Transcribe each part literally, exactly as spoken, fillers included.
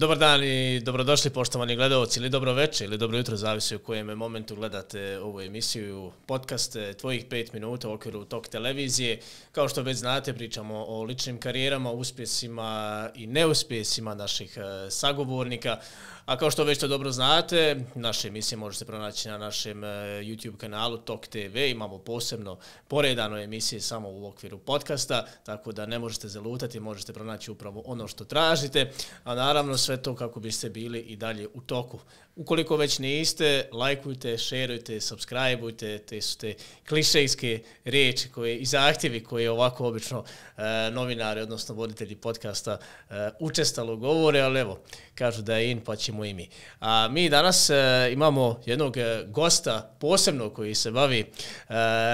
Dobar dan i dobrodošli poštovani gledalci ili dobro večer ili dobro jutro, zavisi u kojem momentu gledate ovu emisiju, podcast Tvojih pet minuta u okviru Tok televizije. Kao što već znate, pričamo o ličnim karijerama, uspjesima i neuspjesima naših sagovornika. A kao što već to dobro znate, naše emisije možete pronaći na našem YouTube kanalu Tok te ve. Imamo posebno poredano emisije samo u okviru podcasta, tako da ne možete zalutati, možete pronaći upravo ono što tražite, a naravno sve to kako biste bili i dalje u toku. Ukoliko već niste, lajkujte, šerujte, subscribeujte, te su te klišejske riječi koje, i zahtjevi koje ovako obično e, novinari, odnosno voditelji podcasta e, učestalo govore, ali evo, kažu da je in, pa ćemo i mi. A mi danas e, imamo jednog gosta posebno koji se bavi e,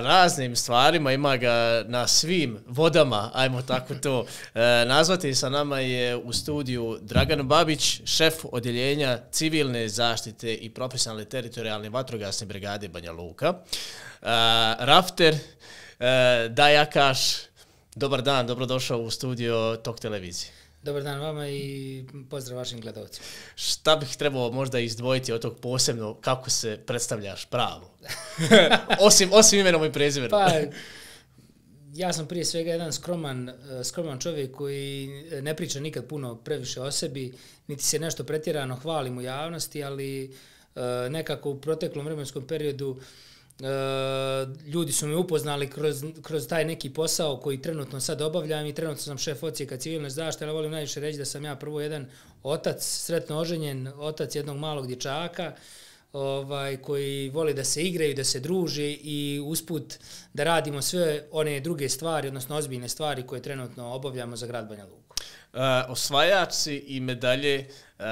raznim stvarima, ima ga na svim vodama, ajmo tako to e, nazvati. Sa nama je u studiju Dragan Babić, šef odjeljenja civilne zaštite zaštite i profesionalne teritorijalne vatrogasne brigade Banja Luka. Uh, Rafter, uh, Dajakaš, dobar dan, dobrodošao u studio Tok televizije. Dobar dan vama i pozdrav vašim gledalcima. Šta bih trebao možda izdvojiti od tog posebno, kako se predstavljaš pravo? osim, osim imenom i prezimenom. Pa, ja sam prije svega jedan skroman, skroman čovjek koji ne priča nikad puno previše o sebi, niti se nešto pretjerano hvalim u javnosti, ali nekako u proteklom vremenskom periodu ljudi su me upoznali kroz, kroz taj neki posao koji trenutno sad obavljam i trenutno sam šef odsjeka civilne zaštite, ali volim najviše reći da sam ja prvo jedan otac, sretno oženjen, otac jednog malog dječaka, Ovaj, koji voli da se igraju, da se druže i usput da radimo sve one druge stvari, odnosno ozbiljne stvari koje trenutno obavljamo za grad Banja Luku. Uh, osvajač si i medalje uh,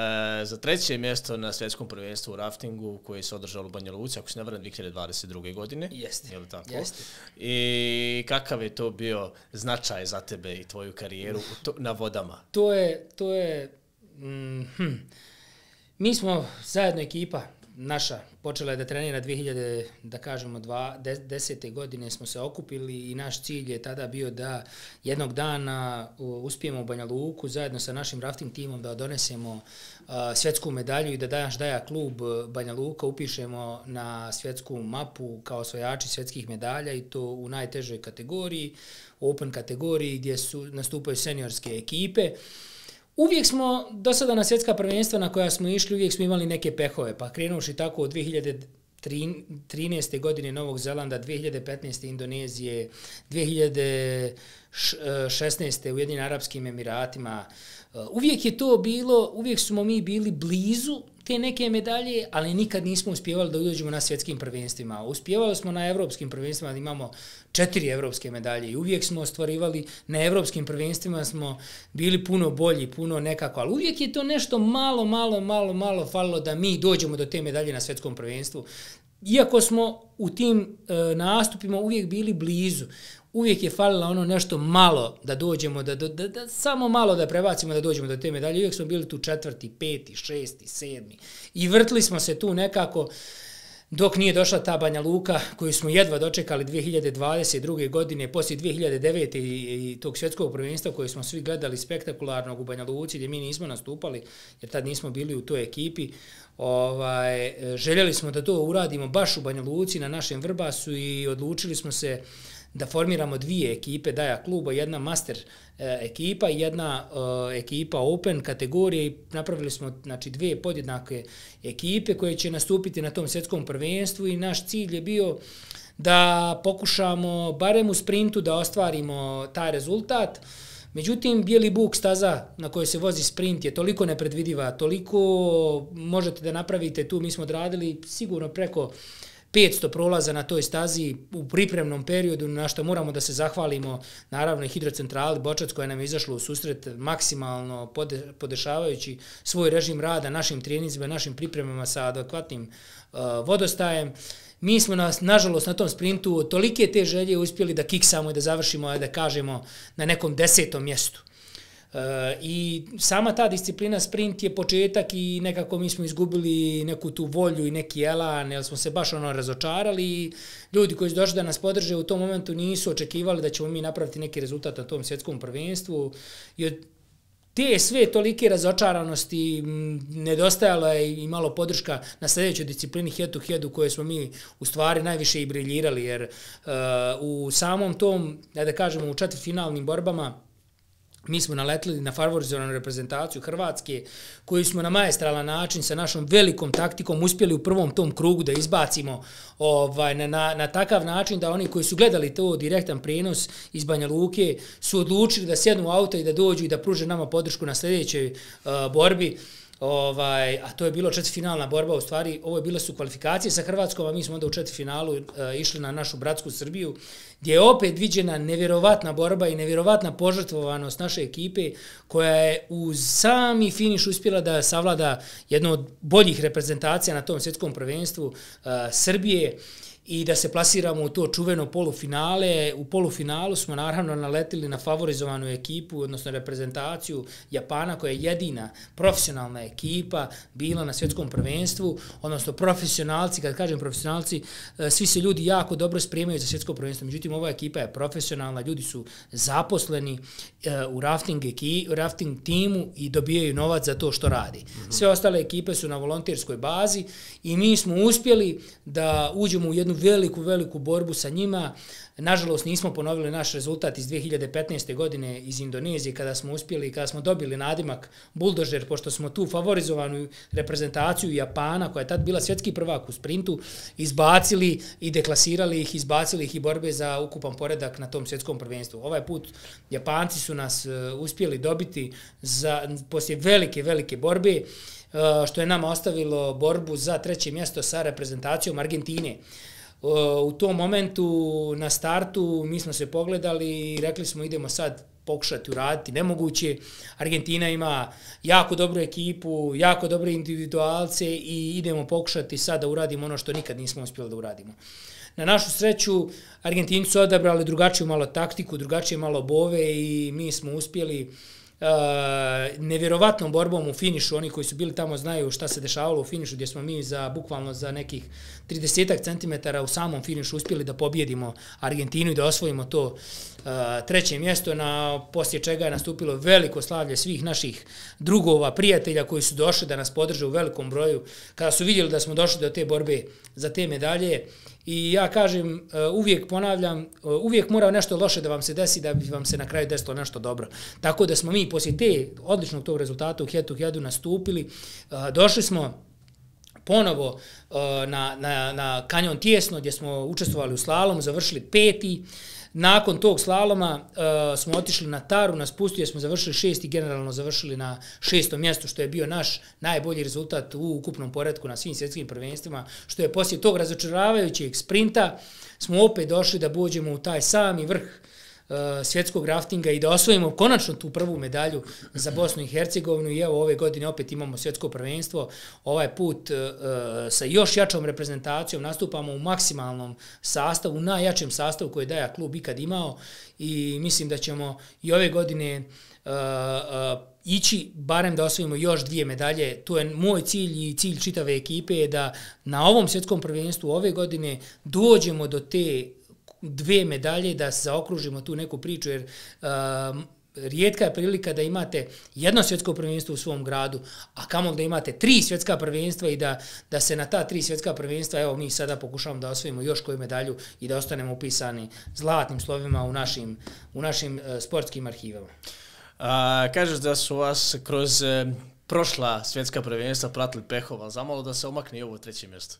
za treće mjesto na svjetskom prvenstvu u raftingu koje se održalo u Banja Luci, ako se ne varam, dvije hiljade dvadeset druge. godine. Jeste. Je li tako? Jeste. I kakav je to bio značaj za tebe i tvoju karijeru to, na vodama? To je, to je, mm, hm. mi smo zajedno ekipa, naša počela je da trenira dvije hiljade, da kažemo, desete godine smo se okupili i naš cilj je tada bio da jednog dana uspijemo u Banja Luku zajedno sa našim rafting timom da donesemo uh, svjetsku medalju i da naš Daja klub Banja Luka upišemo na svjetsku mapu kao osvajači svjetskih medalja i to u najtežoj kategoriji, open kategoriji gdje su nastupaju seniorske ekipe. Uvijek smo, do sada na svjetska prvenstva na koja smo išli, uvijek smo imali neke pehove, pa krenuši tako od dvije hiljade trinaeste. godine Novog Zelanda, dvije hiljade petnaeste. Indonezije, dvije hiljade šesnaeste. Ujedinjenim Arapskim Emiratima. Uvijek je to bilo, uvijek smo mi bili blizu te neke medalje, ali nikad nismo uspjevali da uđemo na svjetskim prvenstvima. Uspjevali smo na evropskim prvenstvima, da imamo četiri evropske medalje i uvijek smo ostvarivali, na evropskim prvenstvima smo bili puno bolji, puno nekako, ali uvijek je to nešto malo, malo, malo, malo falilo da mi dođemo do te medalje na svjetskom prvenstvu. Iako smo u tim e, nastupima uvijek bili blizu, uvijek je falilo ono nešto malo da dođemo, da, da, da samo malo da prebacimo da dođemo do te medalje. Uvijek smo bili tu četvrti, peti, šesti, sedmi i vrtli smo se tu nekako dok nije došla ta Banja Luka koju smo jedva dočekali dvije hiljade dvadeset druge. godine, poslije dvije hiljade devete. i, i tog svjetskog prvenstva koje smo svi gledali spektakularnog u Banja Luci gdje mi nismo nastupali jer tad nismo bili u toj ekipi. Ovaj, željeli smo da to uradimo baš u Banja Luci na našem Vrbasu i odlučili smo se da formiramo dvije ekipe Daja kluba, jedna master e, ekipa i jedna e, ekipa open kategorije i napravili smo znači, dvije podjednake ekipe koje će nastupiti na tom svjetskom prvenstvu i naš cilj je bio da pokušamo barem u sprintu da ostvarimo taj rezultat. Međutim, bijeli buk staza na kojoj se vozi sprint je toliko nepredvidiva, toliko možete da napravite tu, mi smo odradili sigurno preko petsto prolaza na toj stazi u pripremnom periodu, na što moramo da se zahvalimo naravno i hidrocentrali Bočac koja nam je izašla u susret maksimalno pode, podešavajući svoj režim rada našim treninzima, našim pripremama sa adekvatnim uh, vodostajem. Mi smo, nas, nažalost, na tom sprintu tolike te želje uspjeli da kiksamo i da završimo, da kažemo, na nekom desetom mjestu. E, I sama ta disciplina sprint je početak i nekako mi smo izgubili neku tu volju i neki elan, jer smo se baš ono razočarali i ljudi koji su došli da nas podrže u tom momentu nisu očekivali da ćemo mi napraviti neki rezultat na tom svjetskom prvenstvu i od te sve tolike razočaranosti, nedostajalo je i malo podrška na sljedećoj disciplini head to head u kojoj smo mi u stvari najviše i briljirali, jer uh, u samom tom, da kažemo, u četvrtfinalnim borbama mi smo naletili na favorizovanu reprezentaciju Hrvatske, koju smo na maestralan način sa našom velikom taktikom uspjeli u prvom tom krugu da izbacimo ovaj, na, na, na takav način da oni koji su gledali to direktan prenos iz Banja Luke su odlučili da sjednu u auto i da dođu i da pruže nama podršku na sljedećoj uh, borbi. Ovaj, a to je bilo četvrtfinalna borba, u stvari ovo je bile su kvalifikacije sa Hrvatskom, a mi smo onda u četvrtfinalu uh, išli na našu bratsku Srbiju, gdje je opet viđena nevjerovatna borba i nevjerovatna požrtvovanost naše ekipe, koja je u sami finiš uspjela da savlada jednu od boljih reprezentacija na tom svjetskom prvenstvu uh, Srbije, i da se plasiramo u to čuveno polufinale. U polufinalu smo naravno naletili na favorizovanu ekipu, odnosno reprezentaciju Japana, koja je jedina profesionalna ekipa bila na svjetskom prvenstvu, odnosno profesionalci, kad kažem profesionalci, svi se ljudi jako dobro spremaju za svjetsko prvenstvo, međutim ova ekipa je profesionalna, ljudi su zaposleni u rafting, u rafting timu i dobijaju novac za to što radi. Sve ostale ekipe su na volonterskoj bazi i mi smo uspjeli da uđemo u jednu veliku, veliku borbu sa njima. Nažalost, nismo ponovili naš rezultat iz dvije hiljade petnaeste. godine iz Indonezije, kada smo uspjeli, kada smo dobili nadimak Buldožer, pošto smo tu favorizovanu reprezentaciju Japana, koja je tad bila svjetski prvak u sprintu, izbacili i deklasirali ih, izbacili ih i borbe za ukupan poredak na tom svjetskom prvenstvu. Ovaj put Japanci su nas uh, uspjeli dobiti za, poslije velike, velike borbe, uh, što je nama ostavilo borbu za treće mjesto sa reprezentacijom Argentine. U tom momentu na startu mi smo se pogledali i rekli smo idemo sad pokušati uraditi nemoguće. Argentina ima jako dobru ekipu, jako dobre individualce i idemo pokušati sad da uradimo ono što nikad nismo uspjeli da uradimo. Na našu sreću, Argentinci su odabrali drugačiju malo taktiku, drugačije malo bove i mi smo uspjeli Uh, nevjerovatnom borbom u finišu. Oni koji su bili tamo znaju šta se dešavalo u finišu, gdje smo mi za bukvalno za nekih trideset centimetara u samom finišu uspjeli da pobjedimo Argentinu i da osvojimo to uh, treće mjesto, na poslije čega je nastupilo veliko slavlje svih naših drugova, prijatelja koji su došli da nas podrže u velikom broju kada su vidjeli da smo došli do te borbe za te medalje. I ja kažem, uvijek ponavljam, uvijek mora nešto loše da vam se desi da bi vam se na kraju desilo nešto dobro. Tako da smo mi poslije te odličnog tog rezultata u head to headu nastupili, došli smo ponovo na, na, na kanjon Tijesno, gdje smo učestvovali u slalomu, završili peti. Nakon tog slaloma uh, smo otišli na Taru, na spustu, gdje smo završili šesti, generalno završili na šestom mjestu, što je bio naš najbolji rezultat u ukupnom poretku na svim svjetskim prvenstvima, što je poslije tog razočaravajućeg sprinta smo opet došli da dođemo u taj sami vrh uh, svjetskog raftinga i da osvojimo konačno tu prvu medalju za Bosnu i Hercegovinu. I evo ove godine opet imamo svjetsko prvenstvo, ovaj put uh, sa još jačom reprezentacijom, nastupamo u maksimalnom sastavu, najjačem sastavu koji je Daja klub ikad imao i mislim da ćemo i ove godine uh, uh, ići barem da osvojimo još dvije medalje. To je moj cilj i cilj čitave ekipe, je da na ovom svjetskom prvenstvu ove godine dođemo do te dve medalje, da se zaokružimo tu neku priču, jer uh, rijetka je prilika da imate jedno svjetsko prvenstvo u svom gradu, a kamoli da imate tri svjetska prvenstva i da, da se na ta tri svjetska prvenstva, evo mi sada pokušavamo da osvojimo još koju medalju i da ostanemo upisani zlatnim slovima u našim, u našim uh, sportskim arhivama. A, kažeš da su vas kroz e, prošla svjetska prvenstva pratili pehova, zamalo da se omakne i ovo treće mjesto.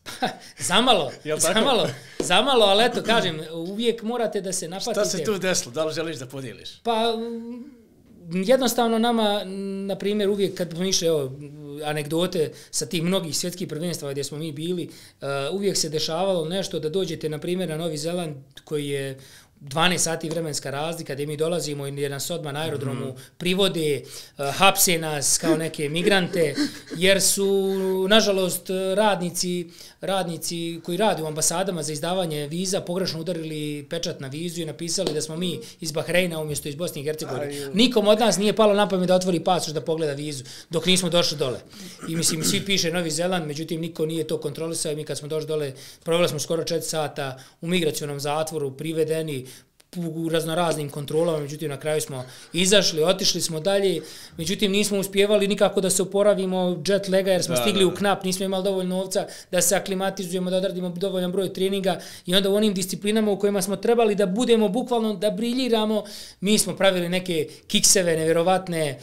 zamalo, zamalo, zamalo, ali eto, kažem, uvijek morate da se napatite. Šta se tu desilo? Da li želiš da podijeliš? Pa, jednostavno nama, na primjer, uvijek kad smo išli, evo, anegdote sa tih mnogih svjetskih prvenstava gdje smo mi bili, uh, uvijek se dešavalo nešto da dođete, na primjer, na Novi Zeland, koji je dvanaest sati vremenska razlika, gdje mi dolazimo i nas odmah na aerodromu mm-hmm. privode, uh, hapse nas kao neke migrante, jer su, nažalost, radnici, radnici koji rade u ambasadama za izdavanje viza pogrešno udarili pečat na vizu i napisali da smo mi iz Bahreina umjesto iz Bosne i Hercegovine. Nikom od nas nije palo na pamet da otvori pasoš da pogleda vizu dok nismo došli dole. I mislim, svi piše Novi Zeland, međutim, niko nije to kontrolisao. Mi kad smo došli dole, proveli smo skoro četiri sata u migracionom zatvoru, privedeni, u raznoraznim kontrolama, međutim na kraju smo izašli, otišli smo dalje, međutim nismo uspjevali nikako da se oporavimo jet laga jer smo da, stigli da, da. u knap, nismo imali dovoljno novca da se aklimatizujemo, da odradimo dovoljan broj treninga i onda u onim disciplinama u kojima smo trebali da budemo bukvalno, da briljiramo, mi smo pravili neke kikseve nevjerovatne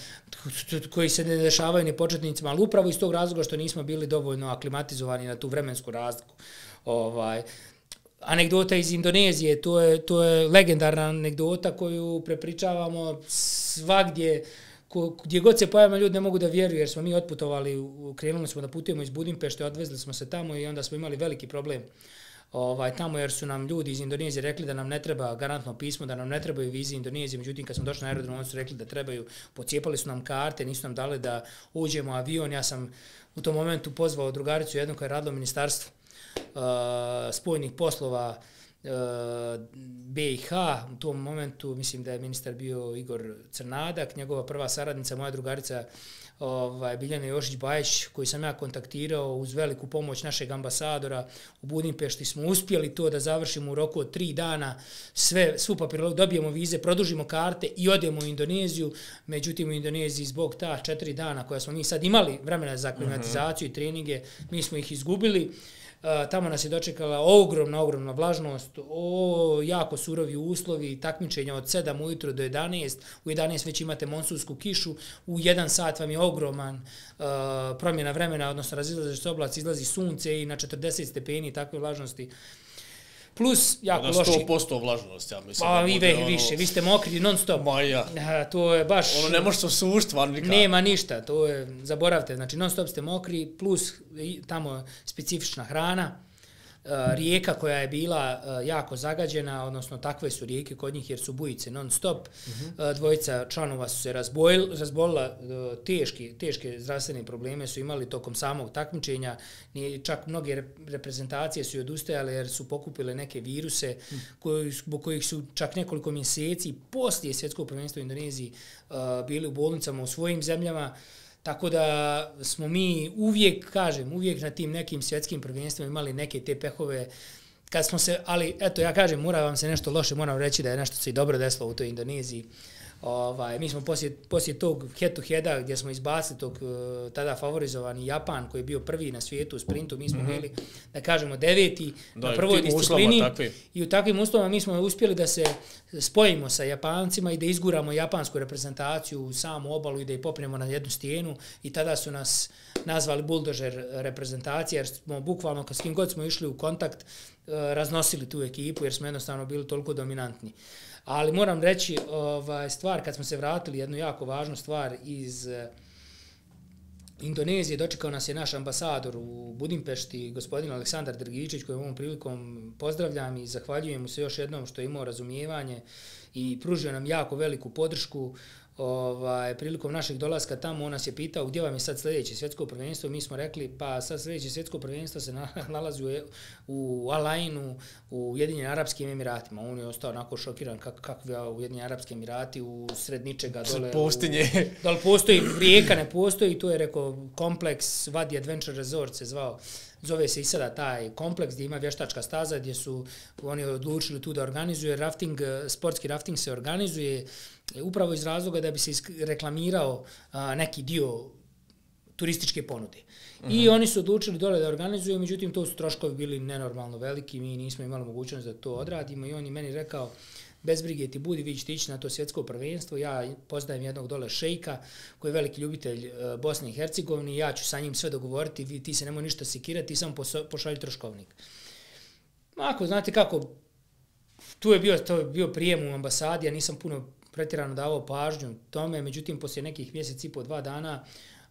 koji se ne dešavaju ni početnicima, ali upravo iz tog razloga što nismo bili dovoljno aklimatizovani na tu vremensku razliku. Ovaj, anegdota iz Indonezije, to je, to je legendarna anegdota koju prepričavamo svagdje, ko, gdje god se pojavimo ljudi ne mogu da vjeruju jer smo mi otputovali, krenuli smo da putujemo iz Budimpešte, odvezli smo se tamo i onda smo imali veliki problem ovaj, tamo jer su nam ljudi iz Indonezije rekli da nam ne treba garantno pismo, da nam ne trebaju vize Indonezije, međutim kad smo došli na aerodrom oni su rekli da trebaju, pocijepali su nam karte, nisu nam dali da uđemo u avion, ja sam u tom momentu pozvao drugaricu jednu koja je radila u ministarstvu Uh, spoljnih poslova uh, B i H. U tom momentu mislim da je ministar bio Igor Crnadak, njegova prva saradnica, moja drugarica ovaj, Biljana Jošić-Bajić, koju sam ja kontaktirao uz veliku pomoć našeg ambasadora u Budimpešti. Smo uspjeli to da završimo u roku od tri dana, sve, svu papirologiju, dobijemo vize, produžimo karte i odemo u Indoneziju. Međutim, u Indoneziji zbog ta četiri dana koja smo mi sad imali vremena za aklimatizaciju i treninge, mi smo ih izgubili. Uh, tamo nas je dočekala ogromna, ogromna vlažnost, o, jako surovi uslovi, takmičenja od sedam ujutro do jedanaest, u jedanaest već imate monsunsku kišu, u jedan sat vam je ogroman uh, promjena vremena, odnosno razilaze se oblaci, izlazi sunce i na četrdeset stepeni takve vlažnosti. Plus, jako loši... sto posto vlažnost, ja mislim. Pa i ono... više, vi ste mokri non stop. Ma ja. A, to je baš... Ono ne može se osušt, van nikad. Nema ništa, to je, zaboravite, znači non stop ste mokri, plus tamo specifična hrana, rijeka koja je bila jako zagađena, odnosno takve su rijeke kod njih jer su bujice non stop. Uh-huh. Dvojica članova su se razbojili, razbolila, teške, teške zdravstvene probleme su imali tokom samog takmičenja. Čak mnoge reprezentacije su odustajale jer su pokupile neke viruse uh-huh. koji, zbog kojih su čak nekoliko mjeseci poslije svjetskog prvenstva u Indoneziji bili u bolnicama u svojim zemljama. Tako da smo mi uvijek, kažem, uvijek na tim nekim svjetskim prvenstvima imali neke te pehove, kad smo se, ali eto ja kažem, mora vam se nešto loše, moram reći da je nešto se i dobro desilo u toj Indoneziji. Ovaj, mi smo poslije, poslije tog head-to-heada gdje smo izbacili tog uh, tada favorizovani Japan koji je bio prvi na svijetu u sprintu, mi smo mm-hmm. bili, da kažemo, deveti da, na prvoj disciplini i u takvim uslovima mi smo uspjeli da se spojimo sa Japancima i da izguramo japansku reprezentaciju u samu obalu i da je popnemo na jednu stijenu i tada su nas nazvali buldožer reprezentacije jer smo bukvalno s kim god smo išli u kontakt uh, raznosili tu ekipu jer smo jednostavno bili toliko dominantni. Ali moram reći, ovaj, stvar, kad smo se vratili, jednu jako važnu stvar iz eh, Indonezije, dočekao nas je naš ambasador u Budimpešti, gospodin Aleksandar Drgičić, koji ovom prilikom pozdravljam i zahvaljujem mu se još jednom što je imao razumijevanje i pružio nam jako veliku podršku. Ovaj, prilikom našeg dolaska tamo on nas je pitao gdje vam je sad sljedeće svjetsko prvenstvo, mi smo rekli pa sad sljedeće svjetsko prvenstvo se nalazi u, u Al-Ainu u Ujedinjenim Arapskim Emiratima. On je ostao onako šokiran kak, kakvi Ujedinjeni Arapski Emirati u sred ničega dole. Pustinje. Da li postoji, rijeka ne postoji, to je rekao kompleks Wadi Adventure Resort se zvao. Zove se i sada taj kompleks gdje ima vještačka staza gdje su oni odlučili tu da organizuje rafting, sportski rafting se organizuje upravo iz razloga da bi se reklamirao a, neki dio turističke ponude. Uh-huh. I oni su odlučili dole da organizuju, međutim to su troškovi bili nenormalno veliki, mi nismo imali mogućnost da to odradimo i on je meni rekao bez brige ti budi, vi ćete ići na to svjetsko prvenstvo, ja poznajem jednog dole šejka koji je veliki ljubitelj uh, Bosne i Hercegovine i ja ću sa njim sve dogovoriti, vi, ti se nemoj ništa sekirati, ti samo pošalji troškovnik. Ako znate kako, tu je bio, to je bio prijem u ambasadi, ja nisam puno pretjerano davao pažnju tome, međutim poslije nekih mjesec i po dva dana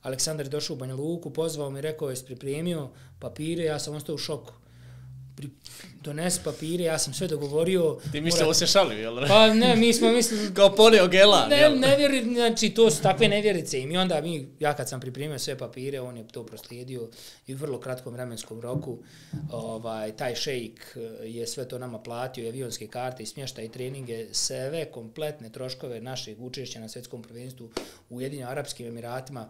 Aleksandar je došao u Banja Luku, pozvao mi, rekao je pripremio papire, ja sam ostao u šoku. Donesi papire, ja sam sve dogovorio. Ti mislite mora... se šalio, jel? Pa ne, mi smo mislili... Kao ponio gela, ne, jel? Ne vjeri, znači to su takve nevjerice. I mi onda, mi, ja kad sam pripremio sve papire, on je to proslijedio i u vrlo kratkom vremenskom roku. Ovaj, taj šejk je sve to nama platio, i avionske karte, i smještaj, i treninge, sve kompletne troškove našeg učešća na svjetskom prvenstvu u Ujedinjenim Arapskim Emiratima.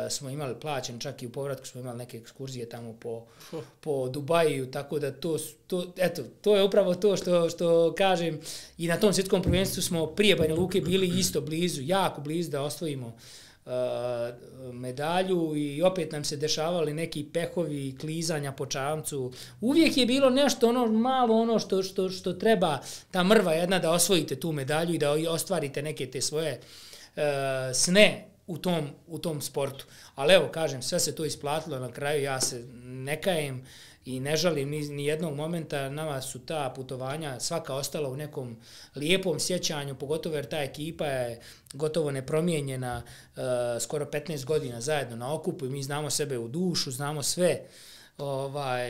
smo imali plaćen, čak i u povratku smo imali neke ekskurzije tamo po, po Dubaju, tako da to, to, eto, to je upravo to što, što kažem i na tom svjetskom prvenstvu smo prije Banja Luke bili isto blizu, jako blizu da osvojimo medalju i opet nam se dešavali neki pehovi klizanja po čamcu. Uvijek je bilo nešto ono malo ono što, što, što treba ta mrva jedna da osvojite tu medalju i da ostvarite neke te svoje uh, sne u tom, u tom sportu. Ali evo, kažem, sve se to isplatilo na kraju, ja se ne kajem i ne žalim ni, ni jednog momenta, nama su ta putovanja svaka ostala u nekom lijepom sjećanju, pogotovo jer ta ekipa je gotovo nepromijenjena, uh, skoro petnaest godina zajedno na okupu i mi znamo sebe u dušu, znamo sve ovaj,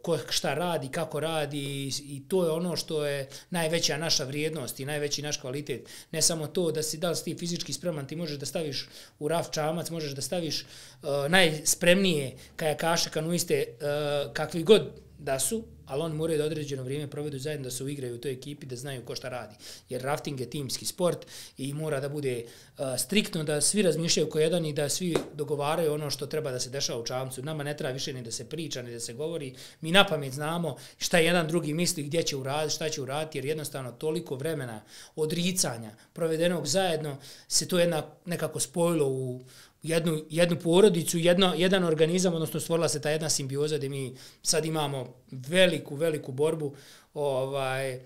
ko šta radi, kako radi i, i to je ono što je najveća naša vrijednost i najveći naš kvalitet. Ne samo to da si, da li si ti fizički spreman, ti možeš da staviš u raf čamac, možeš da staviš uh, najspremnije kajakaše, kanuiste, uh, kakvi god da su, ali oni moraju da određeno vrijeme provedu zajedno, da se uigraju u toj ekipi, da znaju ko šta radi. Jer rafting je timski sport i mora da bude uh, striktno, da svi razmišljaju ko jedan i da svi dogovaraju ono što treba da se dešava u čamcu. Nama ne treba više ni da se priča, ni da se govori. Mi napamet znamo šta jedan drugi misli, gdje će uraditi, šta će uraditi, jer jednostavno toliko vremena odricanja provedenog zajedno se to jedna nekako spojilo u jednu, jednu porodicu, jedno, jedan organizam, odnosno stvorila se ta jedna simbioza gdje mi sad imamo veliku, veliku borbu ovaj,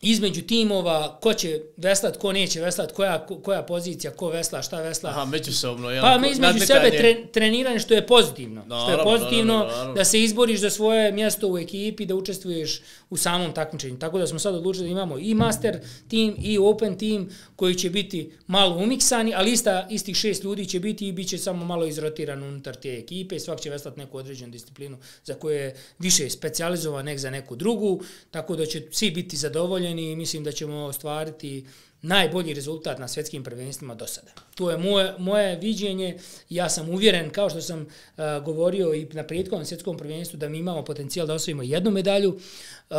između timova, ko će veslat, ko neće veslat, koja, koja pozicija, ko vesla, šta vesla. Aha, međusobno. Ja, pa između sebe tre, treniranje što je pozitivno. No, što je pozitivno no, no, no, no. Da se izboriš za svoje mjesto u ekipi, da učestvuješ u samom takmičenju. Tako da smo sad odlučili da imamo i master tim i open tim koji će biti malo umiksani, ali ista, istih šest ljudi će biti i bit će samo malo izrotiran unutar te ekipe. Svak će veslat neku određenu disciplinu za koju je više specijalizovan nek za neku drugu, tako da će svi biti zadovoljeni i mislim da ćemo ostvariti najbolji rezultat na svjetskim prvenstvima do sada. To je moje, moje viđenje. Ja sam uvjeren, kao što sam uh, govorio i na prethodnom svjetskom prvenstvu, da mi imamo potencijal da osvojimo jednu medalju. Uh,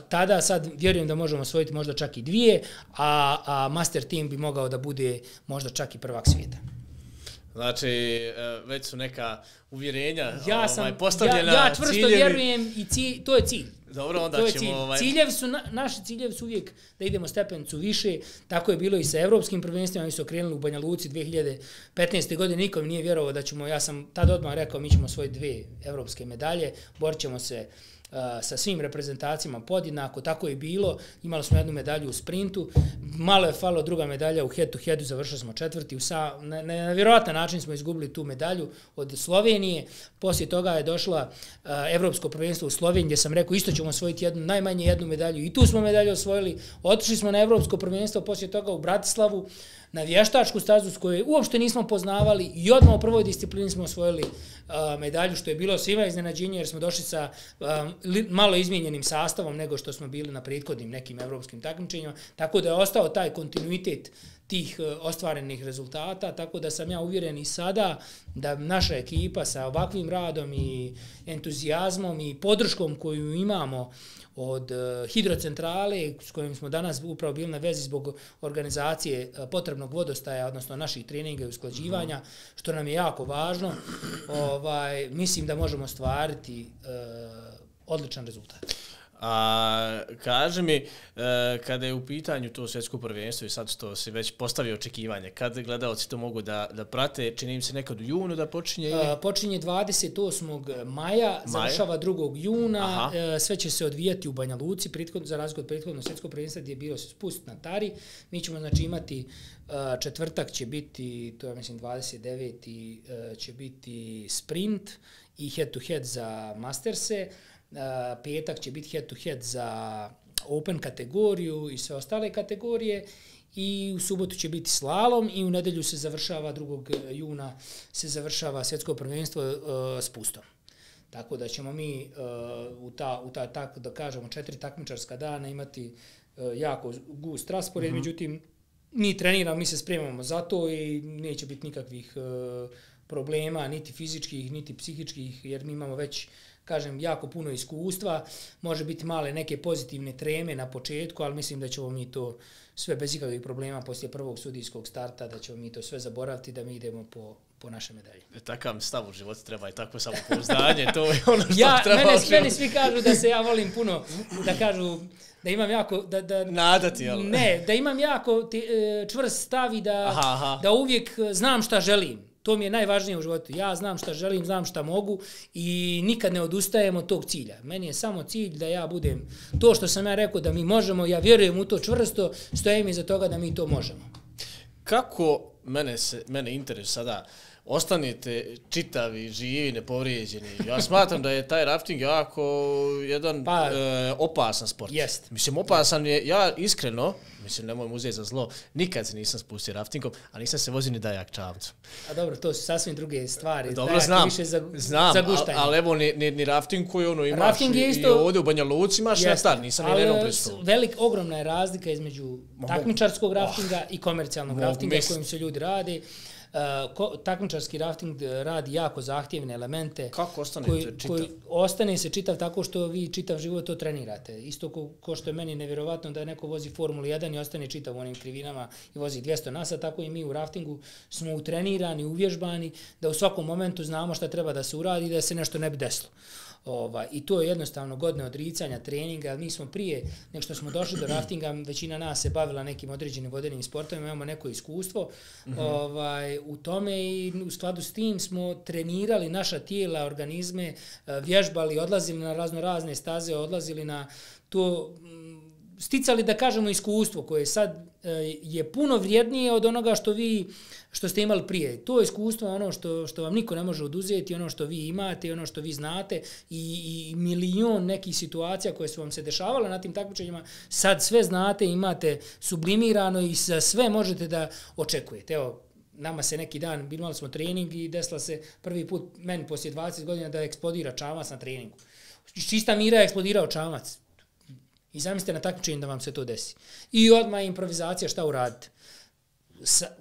tada sad vjerujem da možemo osvojiti možda čak i dvije, a, a master team bi mogao da bude možda čak i prvak svijeta. Znači, već su neka uvjerenja ja sam, ovaj, postavljena. Ja, ja čvrsto ciljevi. Vjerujem i cilj, to je cilj. Dobro, onda to ćemo... Cilj. Ovaj... Ciljevi su, na, naši ciljevi su uvijek da idemo stepencu više. Tako je bilo i sa evropskim prvenstvima. Mi su okrenuli u Banja Luci dvije hiljade petnaeste. godine. Niko mi nije vjerovao da ćemo, ja sam tad odmah rekao, mi ćemo svoje dvije evropske medalje. Borit ćemo se Uh, sa svim reprezentacijama podjednako, tako je bilo. Imali smo jednu medalju u sprintu, malo je falo druga medalja u head to headu, završili smo četvrti. U sa, na, na, na vjerojatan način smo izgubili tu medalju od Slovenije. Poslije toga je došla uh, Evropsko prvenstvo u Sloveniji gdje sam rekao isto ćemo osvojiti jednu, najmanje jednu medalju i tu smo medalju osvojili. Otišli smo na Evropsko prvenstvo poslije toga u Bratislavu na vještačku stazu s kojoj uopšte nismo poznavali i odmah u prvoj disciplini smo osvojili uh, medalju, što je bilo svima iznenađenje jer smo došli sa uh, li, malo izmijenjenim sastavom nego što smo bili na prethodnim nekim evropskim takmičenjima, tako da je ostao taj kontinuitet tih uh, ostvarenih rezultata, tako da sam ja uvjeren i sada da naša ekipa sa ovakvim radom i entuzijazmom i podrškom koju imamo od uh, hidrocentrale s kojim smo danas upravo bili na vezi zbog organizacije uh, potrebnog vodostaja, odnosno naših treninga i usklađivanja, što nam je jako važno, ovaj, mislim da možemo stvariti uh, odličan rezultat. A kaže mi, e, kada je u pitanju to svjetsko prvenstvo i sad što si već postavio očekivanje, kad gledalci to mogu da, da prate, čini im se nekad u junu da počinje? Ili? A, počinje dvadeset osmog maja, završava drugog juna, e, sve će se odvijati u Banja Luci, prethod, za razliku od prethodnog svjetskog prvenstva gdje je bilo spust na Tari. Mi ćemo znači imati a, četvrtak će biti, to je mislim dvadeset deveti a, će biti sprint i head to head za Masterse. Uh, petak će biti head to head za open kategoriju i sve ostale kategorije i u subotu će biti slalom i u nedjelju se završava drugog juna se završava svjetsko prvenstvo uh, s pustom. Tako da ćemo mi uh, u ta, u ta tako da kažemo četiri takmičarska dana imati uh, jako gust raspored, mm-hmm. Međutim mi treniramo, mi se spremamo za to i neće biti nikakvih uh, problema, niti fizičkih, niti psihičkih, jer mi imamo već kažem, jako puno iskustva, može biti male neke pozitivne treme na početku, ali mislim da ćemo mi to sve bez ikakvih problema poslije prvog sudijskog starta, da ćemo mi to sve zaboraviti, da mi idemo po, po naše medalje. E, takav stav u životu treba i takvo samopouzdanje, to je ono što ja, treba. Mene, meni svi kažu da se ja volim puno, da kažu da imam jako... Da, da, Nadati, jel? Ne, da imam jako ti, čvrst stav i da, aha, aha. da uvijek znam šta želim. To mi je najvažnije u životu. Ja znam šta želim, znam šta mogu i nikad ne odustajem od tog cilja. Meni je samo cilj da ja budem to što sam ja rekao da mi možemo, ja vjerujem u to čvrsto, stojim iza toga da mi to možemo. Kako mene, se, mene interesuje sada, ostanete čitavi, živi, nepovrijeđeni. Ja smatram da je taj rafting jako jedan pa, e, opasan sport. Jest. Mislim, opasan je, ja iskreno, mislim, nemoj uzeti za zlo, nikad se nisam spustio raftingom, a nisam se vozio ni dajak čamcu. A dobro, to su sasvim druge stvari. Dobro, dajak znam, više za, znam, za guštanje. ali evo, ni, ni, ni rafting koji ono imaš rafting je isto, i ovdje u Banja Luci imaš na star, nisam ni jednom pristupio. Velik, ogromna je razlika između takmičarskog raftinga oh, i komercijalnog raftinga mis... kojim se ljudi radi. Uh, ko, takmičarski rafting radi jako zahtjevne elemente. Kako ostanete koji, čitav? Koji ostane se čitav tako što vi čitav život to trenirate. Isto ko, ko što je meni nevjerovatno da neko vozi Formulu jedan i ostane čitav u onim krivinama i vozi dvjesto na sat, tako i mi u raftingu smo utrenirani, uvježbani, da u svakom momentu znamo šta treba da se uradi i da se nešto ne bi desilo. Ovaj, I to je jednostavno godine odricanja, treninga, ali mi smo prije, nek što smo došli do raftinga, većina nas se bavila nekim određenim vodenim sportovima, imamo neko iskustvo mm-hmm. ovaj, u tome i u skladu s tim smo trenirali naša tijela, organizme, vježbali, odlazili na razno razne staze, odlazili na to, sticali da kažemo iskustvo koje sad je puno vrijednije od onoga što vi što ste imali prije. To iskustvo je ono što, što vam niko ne može oduzeti, ono što vi imate, ono što vi znate i, i milion nekih situacija koje su vam se dešavale na tim takmičenjima, sad sve znate, imate sublimirano i za sve možete da očekujete. Evo, nama se neki dan, imali smo trening i desila se prvi put meni poslije dvadeset godina da eksplodira čamac na treningu. Čista mira je eksplodirao čamac. I zamislite na takmičenju da vam se to desi. I odmah improvizacija, šta uradite?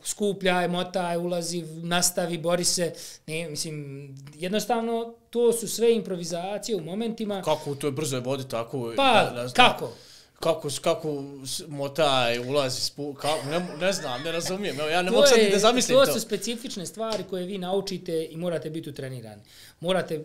Skupljaj, motaj, ulazi, nastavi, bori se. Ne, mislim, jednostavno, to su sve improvizacije u momentima. Kako u toj brzoj vodi tako? Pa, ne, ne kako? Kako, kako motaj, ulazi, spu, kako, ne, ne znam, ne razumijem. Ja ne mogu sad ni da zamislim to. To su specifične stvari koje vi naučite i morate biti utrenirani. Morate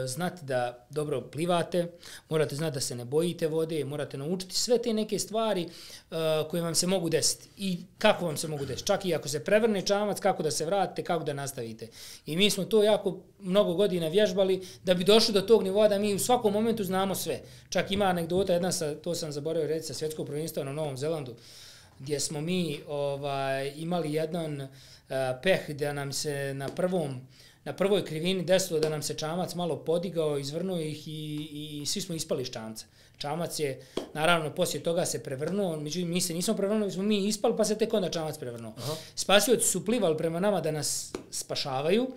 znati da dobro plivate, morate znati da se ne bojite vode, morate naučiti sve te neke stvari uh, koje vam se mogu desiti i kako vam se mogu desiti. Čak i ako se prevrne čamac, kako da se vratite, kako da nastavite. I mi smo to jako mnogo godina vježbali da bi došli do tog nivoa da mi u svakom momentu znamo sve. Čak ima anegdota, jedna sa, to sam zaboravio reći, sa svjetskog prvenstva na Novom Zelandu, gdje smo mi ovaj, imali jedan uh, peh da nam se na prvom na prvoj krivini desilo da nam se čamac malo podigao, izvrnuo ih i, i, i svi smo ispali iz čamca. Čamac je, naravno, poslije toga se prevrnuo, međutim, mi se nismo prevrnuli, smo mi ispali, pa se tek onda čamac prevrnuo. Aha. Spasioci su plivali prema nama da nas spašavaju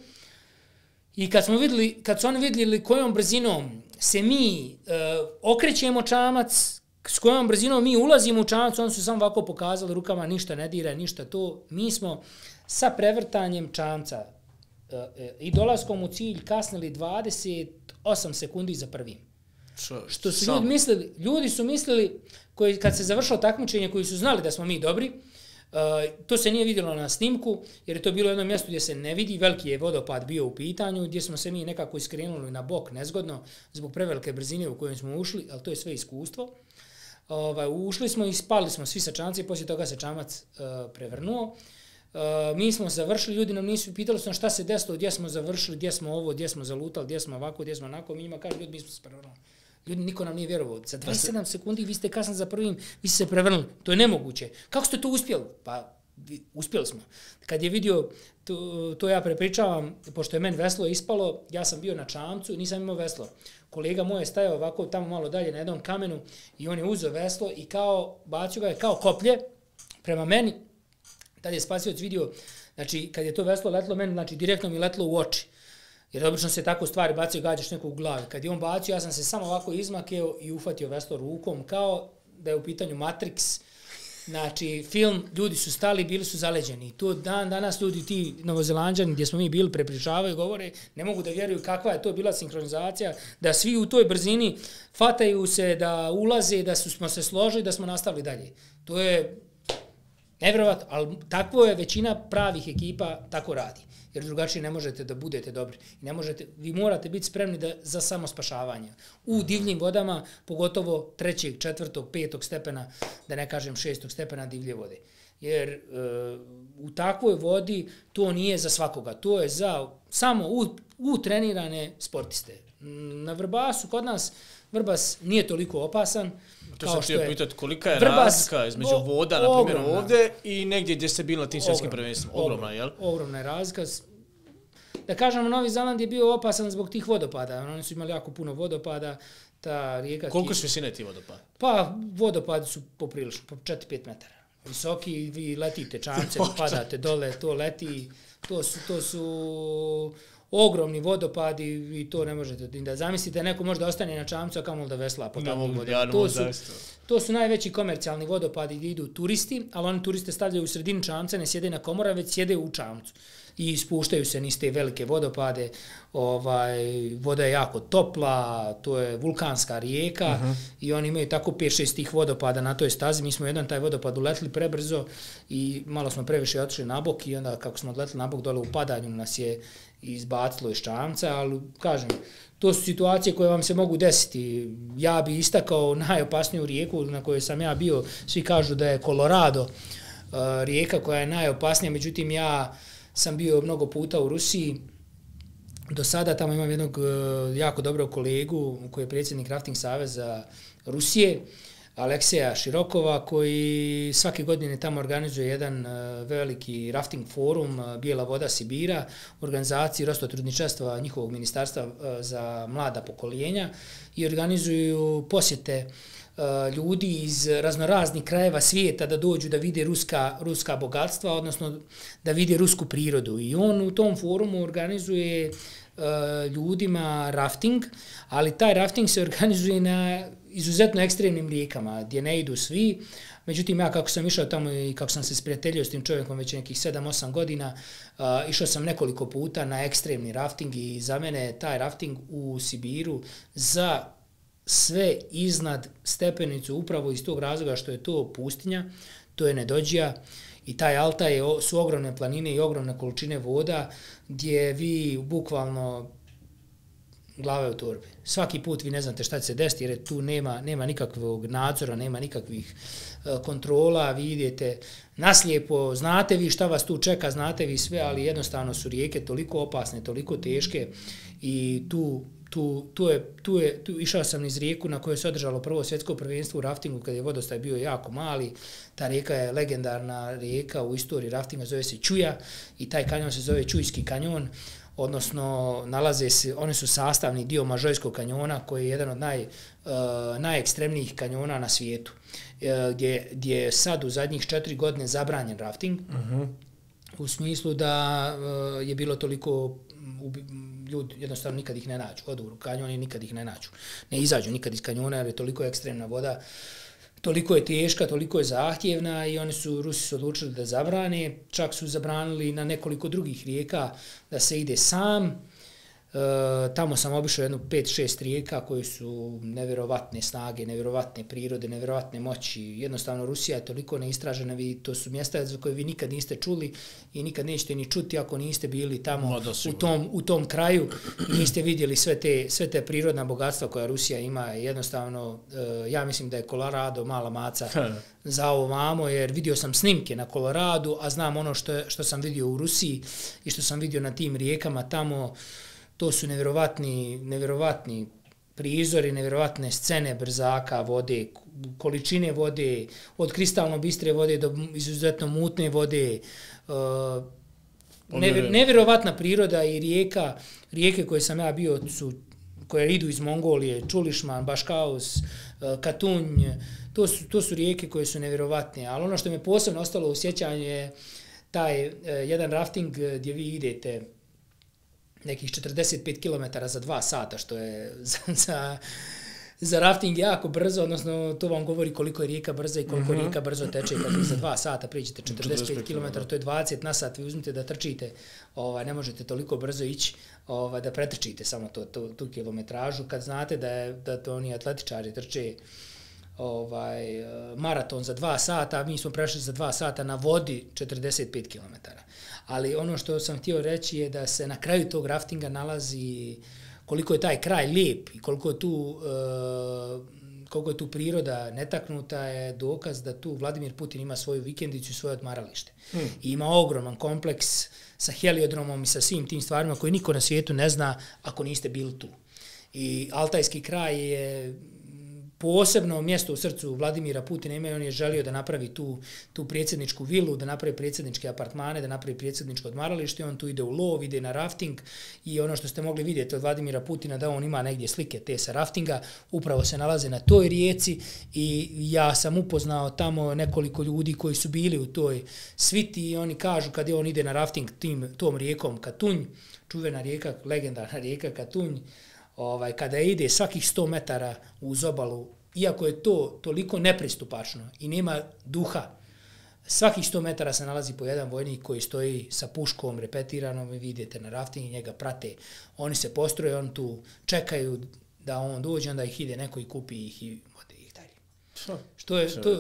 i kad smo vidjeli, kad su oni vidjeli kojom brzinom se mi uh, okrećemo čamac, s kojom brzinom mi ulazimo u čamac, oni su samo ovako pokazali rukama, ništa ne dira, ništa to. Mi smo sa prevrtanjem čamca i dolaskom u cilj kasnili dvadeset osam sekundi za prvim. Čo, što su ljudi mislili, ljudi su mislili, koji, kad se završilo takmičenje, koji su znali da smo mi dobri, uh, to se nije vidjelo na snimku, jer je to bilo jedno mjesto gdje se ne vidi, veliki je vodopad bio u pitanju, gdje smo se mi nekako iskrenuli na bok nezgodno, zbog prevelike brzine u kojoj smo ušli, ali to je sve iskustvo. Ovaj, ušli smo i spali smo svi sa čamci, poslije toga se čamac uh, prevrnuo. Uh, mi smo završili, ljudi nam nisu pitali su šta se desilo, gdje smo završili, gdje smo ovo, gdje smo zalutali, gdje smo ovako, gdje smo onako. Mi njima kažu, ljudi, mi smo se prevrnuli. Ljudi, niko nam nije vjerovao. Za dvadeset sedam sekundi vi ste kasno za prvim, vi ste se prevrnuli. To je nemoguće. Kako ste to uspjeli? Pa, uspjeli smo. Kad je vidio, to, to ja prepričavam, pošto je meni veslo ispalo, ja sam bio na čamcu, nisam imao veslo. Kolega moj je stajao ovako tamo malo dalje na jednom kamenu i on je uzeo veslo i kao, bacio ga je kao koplje prema meni. Tad je spasioc vidio, znači, kad je to veslo letlo meni, znači, direktno mi letlo u oči. Jer obično se tako stvari bacio i gađaš neko u glavi. Kad je on bacio, ja sam se samo ovako izmakeo i ufatio veslo rukom, kao da je u pitanju Matrix. Znači, film, ljudi su stali, bili su zaleđeni. To dan danas ljudi, ti Novozelanđani gdje smo mi bili, prepričavaju, govore, ne mogu da vjeruju kakva je to bila sinkronizacija, da svi u toj brzini fataju se, da ulaze, da su, smo se složili, da smo nastavili dalje. To je nevjerovatno, ali takvo je većina pravih ekipa tako radi. Jer drugačije ne možete da budete dobri. Ne možete, vi morate biti spremni da, za samospašavanje. U divljim vodama, pogotovo trećeg, četvrtog, petog stepena, da ne kažem šestog stepena divlje vode. Jer e, u takvoj vodi to nije za svakoga. To je za samo u, u trenirane sportiste. Na Vrbasu kod nas Vrbas nije toliko opasan. To sam htio pitati kolika je Vrbas, razlika između o, voda, na primjer ogromna. Ovdje i negdje gdje ste bili na tim svjetskim prvenstvima. Ogromna, jel? Ogromna je razlika. Da kažemo, Novi Zeland je bio opasan zbog tih vodopada. Oni su imali jako puno vodopada. Ta rijeka... Koliko su visine ti vodopadi? Pa, vodopadi su poprilično, po četiri do pet metara. Visoki, vi letite čamcem, padate dole, to leti. To su... To su ogromni vodopadi i to ne možete da zamislite. Neko može da ostane na čamcu, a kamoli da vesla po takvim vodama. To su, to su najveći komercijalni vodopadi gdje idu turisti, ali oni turiste stavljaju u sredinu čamca, ne sjede na komora, već sjede u čamcu. I spuštaju se niz te velike vodopade. Ovaj, voda je jako topla, to je vulkanska rijeka uh-huh. i oni imaju tako pet šest tih vodopada na toj stazi. Mi smo jedan taj vodopad uletli prebrzo i malo smo previše otišli na bok i onda kako smo odletli na bok dole u padanju nas je izbacilo iz čamca, ali kažem, to su situacije koje vam se mogu desiti. Ja bi istakao najopasniju rijeku na kojoj sam ja bio, svi kažu da je Colorado uh, rijeka koja je najopasnija, međutim ja sam bio mnogo puta u Rusiji. Do sada tamo imam jednog uh, jako dobrog kolegu koji je predsjednik Rafting saveza Rusije, Alekseja Širokova, koji svake godine tamo organizuje jedan uh, veliki rafting forum uh, Bijela voda Sibira, u organizaciji Rostotrudničarstva njihovog ministarstva uh, za mlada pokoljenja i organizuju posjete uh, ljudi iz raznoraznih krajeva svijeta da dođu da vide ruska, ruska bogatstva, odnosno da vide rusku prirodu. I on u tom forumu organizuje uh, ljudima rafting, ali taj rafting se organizuje na izuzetno ekstremnim rijekama, gdje ne idu svi. Međutim, ja kako sam išao tamo i kako sam se sprijateljio s tim čovjekom već nekih sedam osam godina, uh, išao sam nekoliko puta na ekstremni rafting i za mene je taj rafting u Sibiru za sve iznad stepenicu upravo iz tog razloga što je to pustinja, to je Nedođija i taj Altaj su ogromne planine i ogromne količine voda gdje vi bukvalno glave u torbi. Svaki put vi ne znate šta će se desiti jer tu nema, nema nikakvog nadzora, nema nikakvih uh, kontrola, vi idete naslijepo, znate vi šta vas tu čeka, znate vi sve, ali jednostavno su rijeke toliko opasne, toliko teške i tu, tu, tu, je, tu, je, tu išao sam iz rijeku na kojoj se održalo prvo svjetsko prvenstvo u raftingu kad je vodostaj bio jako mali. Ta rijeka je legendarna rijeka u istoriji raftinga, zove se Čuja i taj kanjon se zove Čujski kanjon. Odnosno, nalaze se, oni su sastavni dio Mažojskog kanjona, koji je jedan od naj, uh, najekstremnijih kanjona na svijetu, uh, gdje, gdje je sad u zadnjih četiri godine zabranjen rafting, uh-huh. u smislu da uh, je bilo toliko ubi, ljudi, jednostavno nikad ih ne nađu, odu u kanjon i nikad ih ne nađu. Ne izađu nikad iz kanjona jer je toliko ekstremna voda, toliko je teška, toliko je zahtjevna i oni su, Rusi su odlučili da zabrane, čak su zabranili na nekoliko drugih rijeka da se ide sam. E, tamo sam obišao jednu pet šest rijeka koje su nevjerovatne snage, nevjerovatne prirode, nevjerovatne moći. Jednostavno Rusija je toliko neistražena, vi, to su mjesta za koje vi nikad niste čuli i nikad nećete ni čuti ako niste bili tamo u tom, u tom kraju i niste vidjeli sve te, sve te prirodna bogatstva koja Rusija ima. Jednostavno, e, ja mislim da je Colorado mala maca za ovo vamo, jer vidio sam snimke na Coloradu, a znam ono što, što sam vidio u Rusiji i što sam vidio na tim rijekama tamo. To su nevjerovatni, nevjerovatni prizori, nevjerovatne scene brzaka vode, količine vode, od kristalno bistre vode do izuzetno mutne vode. Uh, nevjer, nevjerovatna priroda i rijeka, rijeke koje sam ja bio su, koje idu iz Mongolije, Čulišman, Baškaus, uh, Katunj, to su, to su rijeke koje su nevjerovatne. Ali ono što me posebno ostalo u sjećanju je taj uh, jedan rafting gdje vi idete nekih četrdeset pet kilometara za dva sata, što je za, za za rafting jako brzo, odnosno to vam govori koliko je rijeka brza i koliko mm-hmm. rijeka brzo teče. Kad vi za dva sata priđete četrdeset pet kilometara, to je dvadeset na sat, vi uzmite da trčite, ovaj, ne možete toliko brzo ići ovaj, da pretrčite samo to, to, tu kilometražu. Kad znate da, je, da to oni atletičari trče ovaj, maraton za dva sata, mi smo prešli za dva sata na vodi četrdeset pet kilometara. Ali ono što sam htio reći je da se na kraju tog raftinga nalazi koliko je taj kraj lijep i koliko je tu, uh, koliko je tu priroda netaknuta je dokaz da tu Vladimir Putin ima svoju vikendicu i svoje odmaralište. Hmm. I ima ogroman kompleks sa heliodromom i sa svim tim stvarima koje niko na svijetu ne zna ako niste bili tu. I Altajski kraj je posebno mjesto u srcu Vladimira Putina ima i on je želio da napravi tu, tu predsjedničku vilu, da napravi predsjedničke apartmane, da napravi predsjedničko odmaralište, on tu ide u lov, ide na rafting i ono što ste mogli vidjeti od Vladimira Putina da on ima negdje slike te sa raftinga, upravo se nalaze na toj rijeci i ja sam upoznao tamo nekoliko ljudi koji su bili u toj sviti i oni kažu kad je on ide na rafting tim, tom rijekom Katunj, čuvena rijeka, legendarna rijeka Katunj, Ovaj, kada ide svakih sto metara uz obalu, iako je to toliko nepristupačno i nema duha, svakih sto metara se nalazi po jedan vojnik koji stoji sa puškom repetiranom i vidite na rafting i njega prate. Oni se postroje, oni tu čekaju da on dođe, onda ih ide neko i kupi ih i vode ih dalje. Što je, to,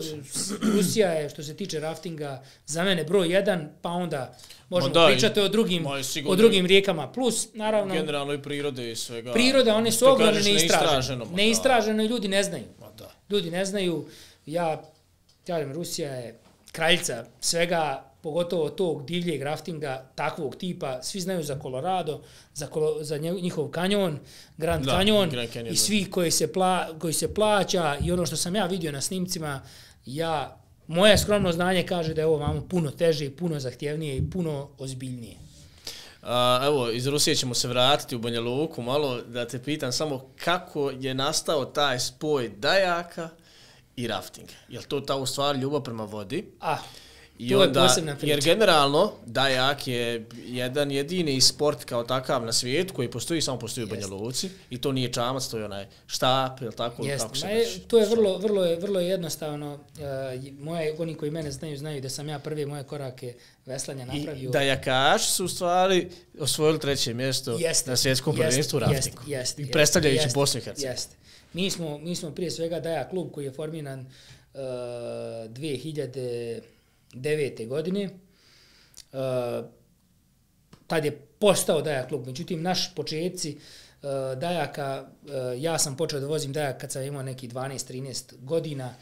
Rusija je, što se tiče raftinga, za mene broj jedan, pa onda možemo da, pričati o drugim, o drugim rijekama. Plus, naravno... Generalno i prirode i svega. Priroda, one su ogromne neistražene. Neistraženo i ljudi ne znaju. Da. Ljudi ne znaju. Ja, kažem, Rusija je kraljica svega, pogotovo tog divljeg raftinga, takvog tipa. Svi znaju za Colorado, za, kolo, za njihov kanjon, Grand da, Canyon, Grand Canyon i svi koji se, pla, koji se plaća. I ono što sam ja vidio na snimcima, ja... Moje skromno znanje kaže da je ovo vamo puno teže, puno zahtjevnije i puno ozbiljnije. A, evo, iz Rusije ćemo se vratiti u Banja Luku malo, da te pitam samo kako je nastao taj spoj dajaka i raftinga. Je li to ta u stvari ljubav prema vodi? Ah, I to onda, je posebna priča. Jer generalno dajak je jedan jedini sport kao takav na svijetu koji postoji, samo postoji u Banja Luci i to nije čamac, to je onaj štap, ili tako? Kako se je, to je vrlo, vrlo, je, vrlo jednostavno. Uh, moje, oni koji mene znaju, znaju da sam ja prve moje korake veslanja napravio. I dajakaši su u stvari osvojili treće mjesto jeste, na svjetskom prvenstvu u raftingu. Jeste, I predstavljajući Bosnu i Hercegovinu. Jeste. Mi smo, mi smo prije svega dajak klub koji je formiran uh, dvije hiljade devete godine, uh, tad je postao dajak klub. Međutim, naši početci uh, dajaka, uh, ja sam počeo da vozim dajak kad sam imao neki dvanaest trinaest godina,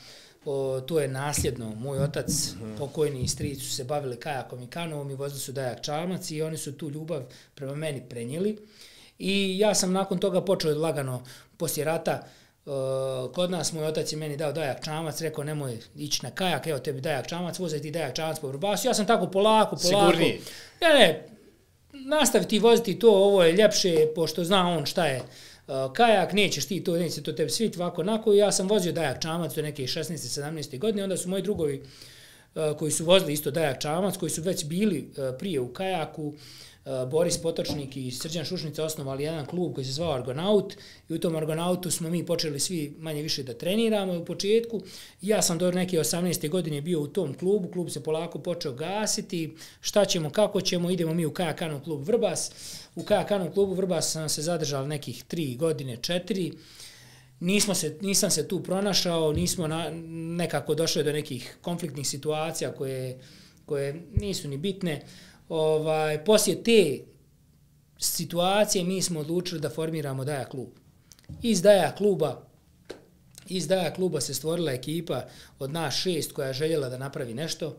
o, to je nasljedno. Moj otac, mm-hmm. pokojni i stric su se bavili kajakom i kanovom i vozili su dajak čamac i oni su tu ljubav prema meni prenijeli. I ja sam nakon toga počeo lagano poslije rata. Uh, kod nas moj otac je meni dao dajak čamac, rekao nemoj ići na kajak, evo tebi dajak čamac, vozaj ti dajak čamac po Vrbasu. Ja sam tako polako, polako. Sigurniji. Ne, ne, nastavi ti voziti to, ovo je ljepše, pošto zna on šta je uh, kajak, nećeš ti to, neće to tebi sviti ovako, onako. Ja sam vozio dajak čamac do neke šesnaeste sedamnaeste godine, onda su moji drugovi uh, koji su vozili isto dajak čamac, koji su već bili uh, prije u kajaku, Boris Potočnik i Srđan Šušnica osnovali jedan klub koji se zvao Argonaut i u tom Argonautu smo mi počeli svi manje više da treniramo u početku. Ja sam do neke osamnaeste godine bio u tom klubu, klub se polako počeo gasiti, šta ćemo, kako ćemo, idemo mi u Kajakanu klub Vrbas. U Kajakanu klubu Vrbas sam se zadržao nekih tri godine, četiri. Nismo se, nisam se tu pronašao, nismo na, nekako došli do nekih konfliktnih situacija koje, koje nisu ni bitne. Ovaj, poslije te situacije mi smo odlučili da formiramo dajak klub. Iz dajak kluba, iz dajak kluba se stvorila ekipa od nas šest koja je željela da napravi nešto,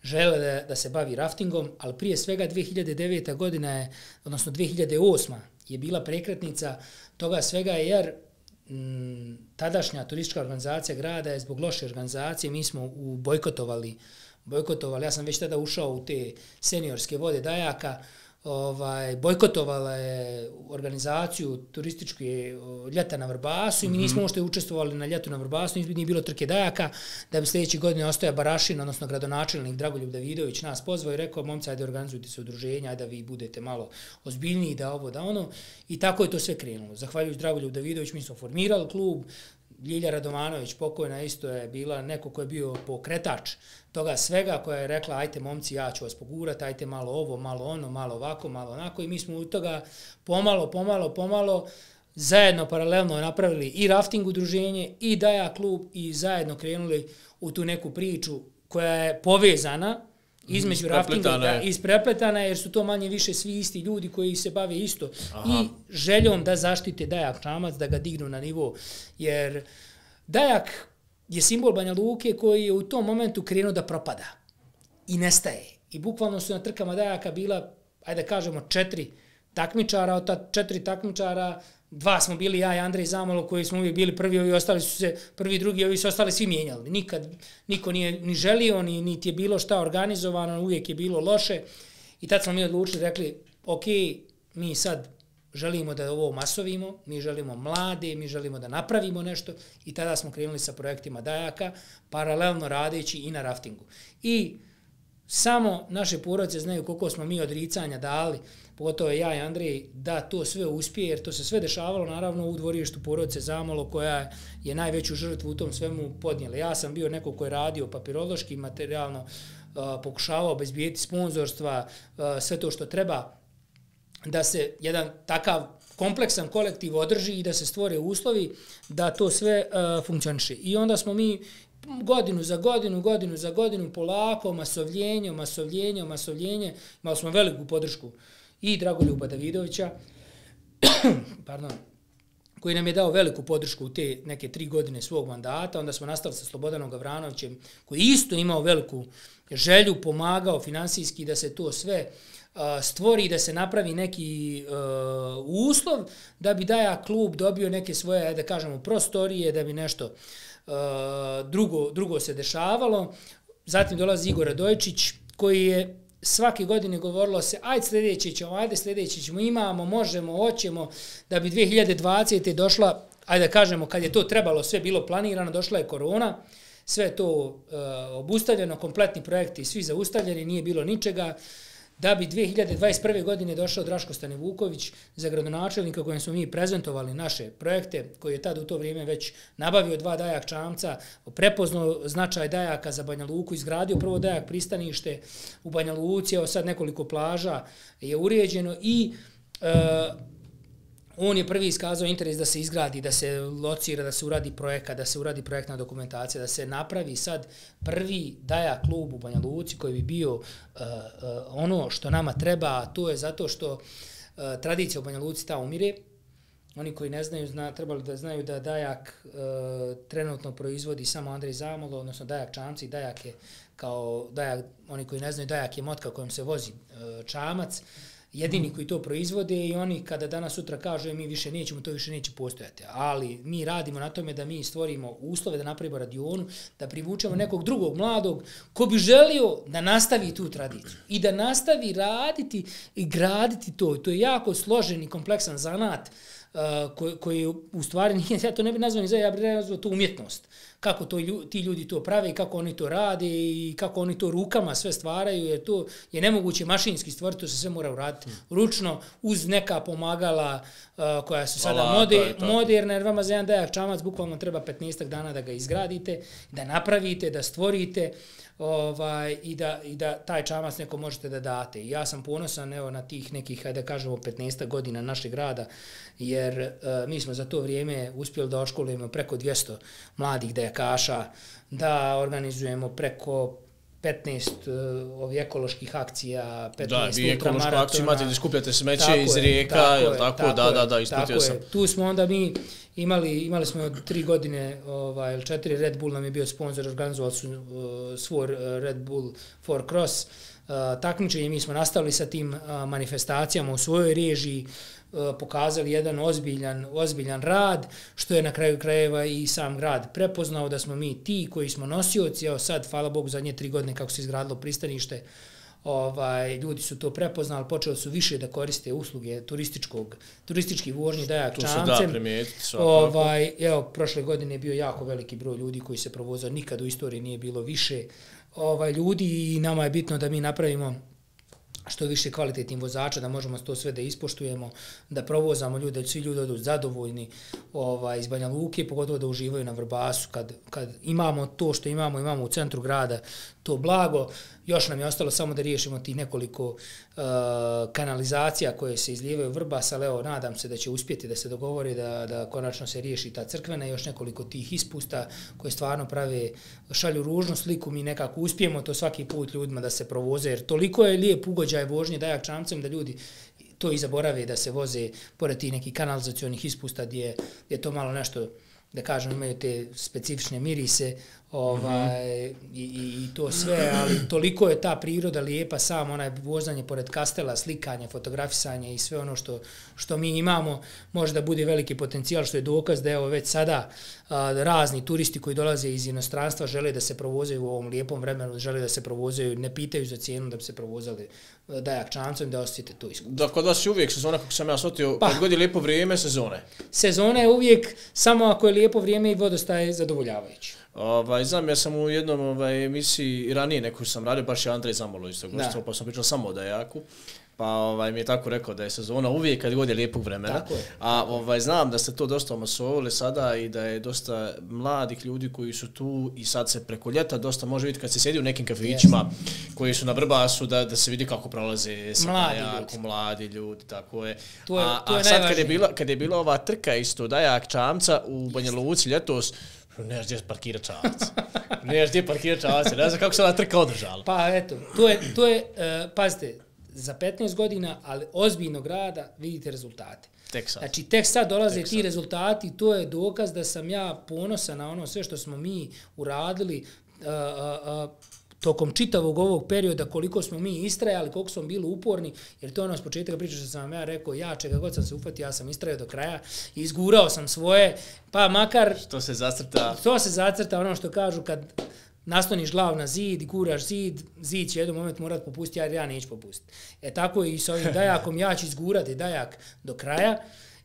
željela da, da se bavi raftingom, ali prije svega dvije hiljade deveta godina je, odnosno dvije hiljade osma je bila prekretnica toga svega jer m, tadašnja turistička organizacija grada je zbog loše organizacije, mi smo u bojkotovali bojkotovali, ja sam već tada ušao u te seniorske vode dajaka, ovaj, bojkotovala je organizaciju turističke ljeta na Vrbasu i mi nismo uopšte učestvovali na ljetu na Vrbasu, nije bilo trke dajaka, da bi sljedeće godine ostaja Barašin, odnosno gradonačelnik Dragoljub Davidović nas pozvao i rekao, momci, ajde organizujte se udruženja, ajde da vi budete malo ozbiljniji, da ovo, da ono. I tako je to sve krenulo. Zahvaljujući Dragoljub Davidović, mi smo formirali klub, Ljilja Radovanović, pokojna, isto je bila neko ko je bio pokretač toga svega, koja je rekla ajte momci, ja ću vas pogurati, ajte malo ovo, malo ono, malo ovako, malo onako i mi smo od toga pomalo, pomalo, pomalo zajedno paralelno napravili i rafting udruženje i Dajak klub i zajedno krenuli u tu neku priču koja je povezana između raftinga da, isprepletana, jer su to manje više svi isti ljudi koji se bave isto. Aha. I željom da zaštite Dajak Čamac, da ga dignu na nivo. Jer Dajak je simbol Banja Luke koji je u tom momentu krenuo da propada i nestaje. I bukvalno su na trkama Dajaka bila, ajde da kažemo, četiri takmičara, od ta četiri takmičara dva smo bili ja i Andrej Zamalo koji smo uvijek bili prvi, ovi ostali su se prvi, drugi, ovi su ostali svi mijenjali. Nikad niko nije ni želio, ni niti je bilo šta organizovano, uvijek je bilo loše. I tad smo mi odlučili, rekli, ok, mi sad želimo da ovo masovimo, mi želimo mlade, mi želimo da napravimo nešto i tada smo krenuli sa projektima Dajaka, paralelno radeći i na raftingu. I samo naše porodice znaju koliko smo mi odricanja dali, pogotovo ja i Andrej, da to sve uspije, jer to se sve dešavalo naravno u dvorištu porodice Zamalo, koja je najveću žrtvu u tom svemu podnijela. Ja sam bio neko ko je radio papirološki, materijalno, uh, pokušavao obezbijeti sponzorstva, uh, sve to što treba da se jedan takav kompleksan kolektiv održi i da se stvore uslovi da to sve uh, funkcioniše. I onda smo mi godinu za godinu, godinu za godinu, polako, masovljenje, masovljenje, masovljenje, imali smo veliku podršku i Dragoljuba Davidovića, pardon, koji nam je dao veliku podršku u te neke tri godine svog mandata. Onda smo nastali sa Slobodanom Gavranovićem, koji isto imao veliku želju, pomagao finansijski da se to sve uh, stvori, da se napravi neki uh, uslov, da bi Dajak klub dobio neke svoje, da kažemo, prostorije, da bi nešto uh, drugo, drugo se dešavalo. Zatim dolazi Igor Radojčić, koji je svake godine govorilo se, ajde sljedeće ćemo, ajde sljedeće ćemo, imamo, možemo, hoćemo, da bi dvije hiljade dvadesete došla, ajde da kažemo, kad je to trebalo, sve bilo planirano, došla je korona, sve je to uh, obustavljeno, kompletni projekti svi zaustavljeni, nije bilo ničega, da bi dvije hiljade dvadeset prve godine došao Draško Stanivuković za gradonačelnika kojem smo mi prezentovali naše projekte, koji je tad u to vrijeme već nabavio dva Dajak čamca, prepoznao značaj Dajaka za Banja Luku, izgradio prvo Dajak pristanište u Banja Luci, evo sad nekoliko plaža je uređeno i e, on je prvi iskazao interes da se izgradi, da se locira, da se uradi projekat, da se uradi projektna dokumentacija, da se napravi sad prvi Dajak klub u Banja Luci koji bi bio uh, uh, ono što nama treba, a to je zato što uh, tradicija u Banja Luci ta umire. Oni koji ne znaju, zna, trebali da znaju da Dajak uh, trenutno proizvodi samo Andrej Zamalo, odnosno Dajak čamci, Dajak je kao, Dajak, oni koji ne znaju, Dajak je motka kojom se vozi uh, čamac, jedini koji to proizvode i oni kada danas sutra kažu mi više nećemo, to više neće postojati. Ali mi radimo na tome da mi stvorimo uslove, da napravimo radionu, da privučemo nekog drugog mladog ko bi želio da nastavi tu tradiciju i da nastavi raditi i graditi to. To je jako složen i kompleksan zanat uh, koji, koji u stvari nije, ja to ne bih nazvao ni za, ja bih nazvao to umjetnost. Kako to, ti ljudi to prave i kako oni to rade i kako oni to rukama sve stvaraju, jer to je nemoguće mašinski stvoriti, to se sve mora uraditi ručno, uz neka pomagala uh, koja su sada Hvala, moder, to to. moderna, jer vama za jedan Dajak čamac bukvalno treba petnaest dana da ga izgradite, da napravite, da stvorite ovaj, i, da, i da taj čamac neko možete da date. I ja sam ponosan evo, na tih nekih, hajde da kažemo, petnaest godina našeg rada, jer uh, mi smo za to vrijeme uspjeli da oškolujemo preko dvjesto mladih dajakaša, da organizujemo preko petnaest uh, ovih ekoloških akcija, petnaest da, vi ekološku akciju imate da skupljate smeće tako iz rijeka, tako, je, tako, tako da, da, da, isputio sam. Je. Tu smo onda mi imali, imali smo od tri godine, ovaj, ili četiri, Red Bull nam je bio sponsor, organizovali su uh, svoj Red Bull for Cross uh, takmičenje, mi smo nastavili sa tim uh, manifestacijama u svojoj režiji, pokazali jedan ozbiljan, ozbiljan rad, što je na kraju krajeva i sam grad prepoznao da smo mi ti koji smo nosioci, evo sad, hvala Bogu, zadnje tri godine kako se izgradilo pristanište, ovaj, ljudi su to prepoznali, počeli su više da koriste usluge turističkog, turistički vožnji Dajak čamcem. Tu se da primijetiti svakako. Ovaj, evo, prošle godine je bio jako veliki broj ljudi koji se provozao, nikad u istoriji nije bilo više ovaj, ljudi i nama je bitno da mi napravimo što više kvalitetnih vozača, da možemo to sve da ispoštujemo, da provozamo ljude, da svi ljudi odu zadovoljni ovaj, iz Banja Luke, pogotovo da uživaju na Vrbasu. Kad, kad imamo to što imamo, imamo u centru grada to blago, još nam je ostalo samo da riješimo tih nekoliko uh, kanalizacija koje se izlijevaju u Vrbas, ali evo, nadam se da će uspjeti da se dogovori da, da konačno se riješi ta crkvena i još nekoliko tih ispusta koje stvarno prave, šalju ružnu sliku, mi nekako uspijemo to svaki put ljudima da se provoze, jer toliko je lijep ugođaj vožnje Dajak čamcem da ljudi to i zaborave da se voze pored tih nekih kanalizacionih ispusta gdje je to malo nešto, da kažem, imaju te specifične mirise, ovaj, mm-hmm. i, i, i to sve, ali toliko je ta priroda lijepa, samo onaj vozanje pored kastela, slikanje, fotografisanje i sve ono što, što mi imamo, može da bude veliki potencijal, što je dokaz da evo već sada a, razni turisti koji dolaze iz inostranstva žele da se provozaju u ovom lijepom vremenu, žele da se provozaju, ne pitaju za cijenu da bi se provozali Dajak čamcem, da osjetite to iskustvo. Da, kod vas je uvijek sezona, kako sam ja shvatio, pa, kad god je lijepo vrijeme, sezone. Sezona je uvijek, samo ako je lijepo vrijeme i vodostaj je zadovoljavajući. Ovaj, znam, ja sam u jednom ovaj, emisiji ranije neku sam radio, baš je Andrej Zamolo isto gošćo, pa sam pričao samo o Dajaku. Pa ovaj, mi je tako rekao da je sezona uvijek kad god je lijepog vremena. A ovaj, znam da ste to dosta omasovali sada i da je dosta mladih ljudi koji su tu i sad se preko ljeta dosta može vidjeti kad se sjedi u nekim kafićima yes. koji su na Vrbasu da, da se vidi kako prolaze sa mladi Dajaku, ljudi. mladi ljudi, tako je. To je, a to je a sad kad je, bila, kad je bila ova trka isto Dajak čamca u Banja Luci ljetos, nemaš gdje parkira čamac. Nemaš gdje parkira čamac. Ne znam kako se ova trka održala. Pa eto, to je, to je uh, pazite, za petnaest godina, ali ozbiljnog rada, vidite rezultate. Tek sad. Znači, tek sad dolaze tek ti sad. rezultati, to je dokaz da sam ja ponosan na ono sve što smo mi uradili uh, uh, uh, tokom čitavog ovog perioda, koliko smo mi istrajali, koliko smo bili uporni, jer to je ono s početka priča što sam vam ja rekao, ja čega god sam se ufatio, ja sam istrajao do kraja i izgurao sam svoje, pa makar... Što se zacrta... To se zacrta, ono što kažu kad nasloniš glavu na zid, guraš zid, zid će jedan moment morat popustiti, jer ja neću popustiti. E tako i s ovim Dajakom, ja ću izgurati Dajak do kraja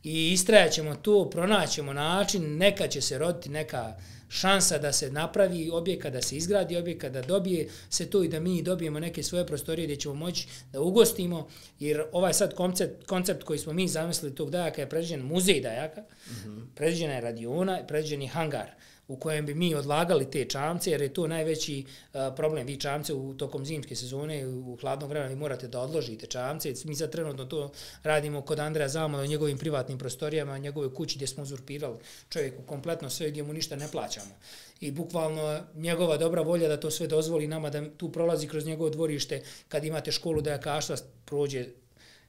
i istrajat ćemo to, pronaćemo način, neka će se roditi neka šansa da se napravi objekat, da se izgradi objekat, da dobije se to i da mi dobijemo neke svoje prostorije gdje ćemo moći da ugostimo, jer ovaj sad koncept, koncept koji smo mi zamislili tog Dajaka je predviđen muzej Dajaka, mm-hmm. predviđena je radiona, predviđen je hangar u kojem bi mi odlagali te čamce, jer je to najveći uh, problem. Vi čamce u tokom zimske sezone, u hladnom vremenu, vi morate da odložite čamce. Mi sad trenutno to radimo kod Andreja Zamola u njegovim privatnim prostorijama, u njegovoj kući gdje smo uzurpirali čovjeku kompletno sve, gdje mu ništa ne plaćamo. I bukvalno njegova dobra volja da to sve dozvoli nama, da tu prolazi kroz njegovo dvorište, kad imate školu dajakaštva, prođe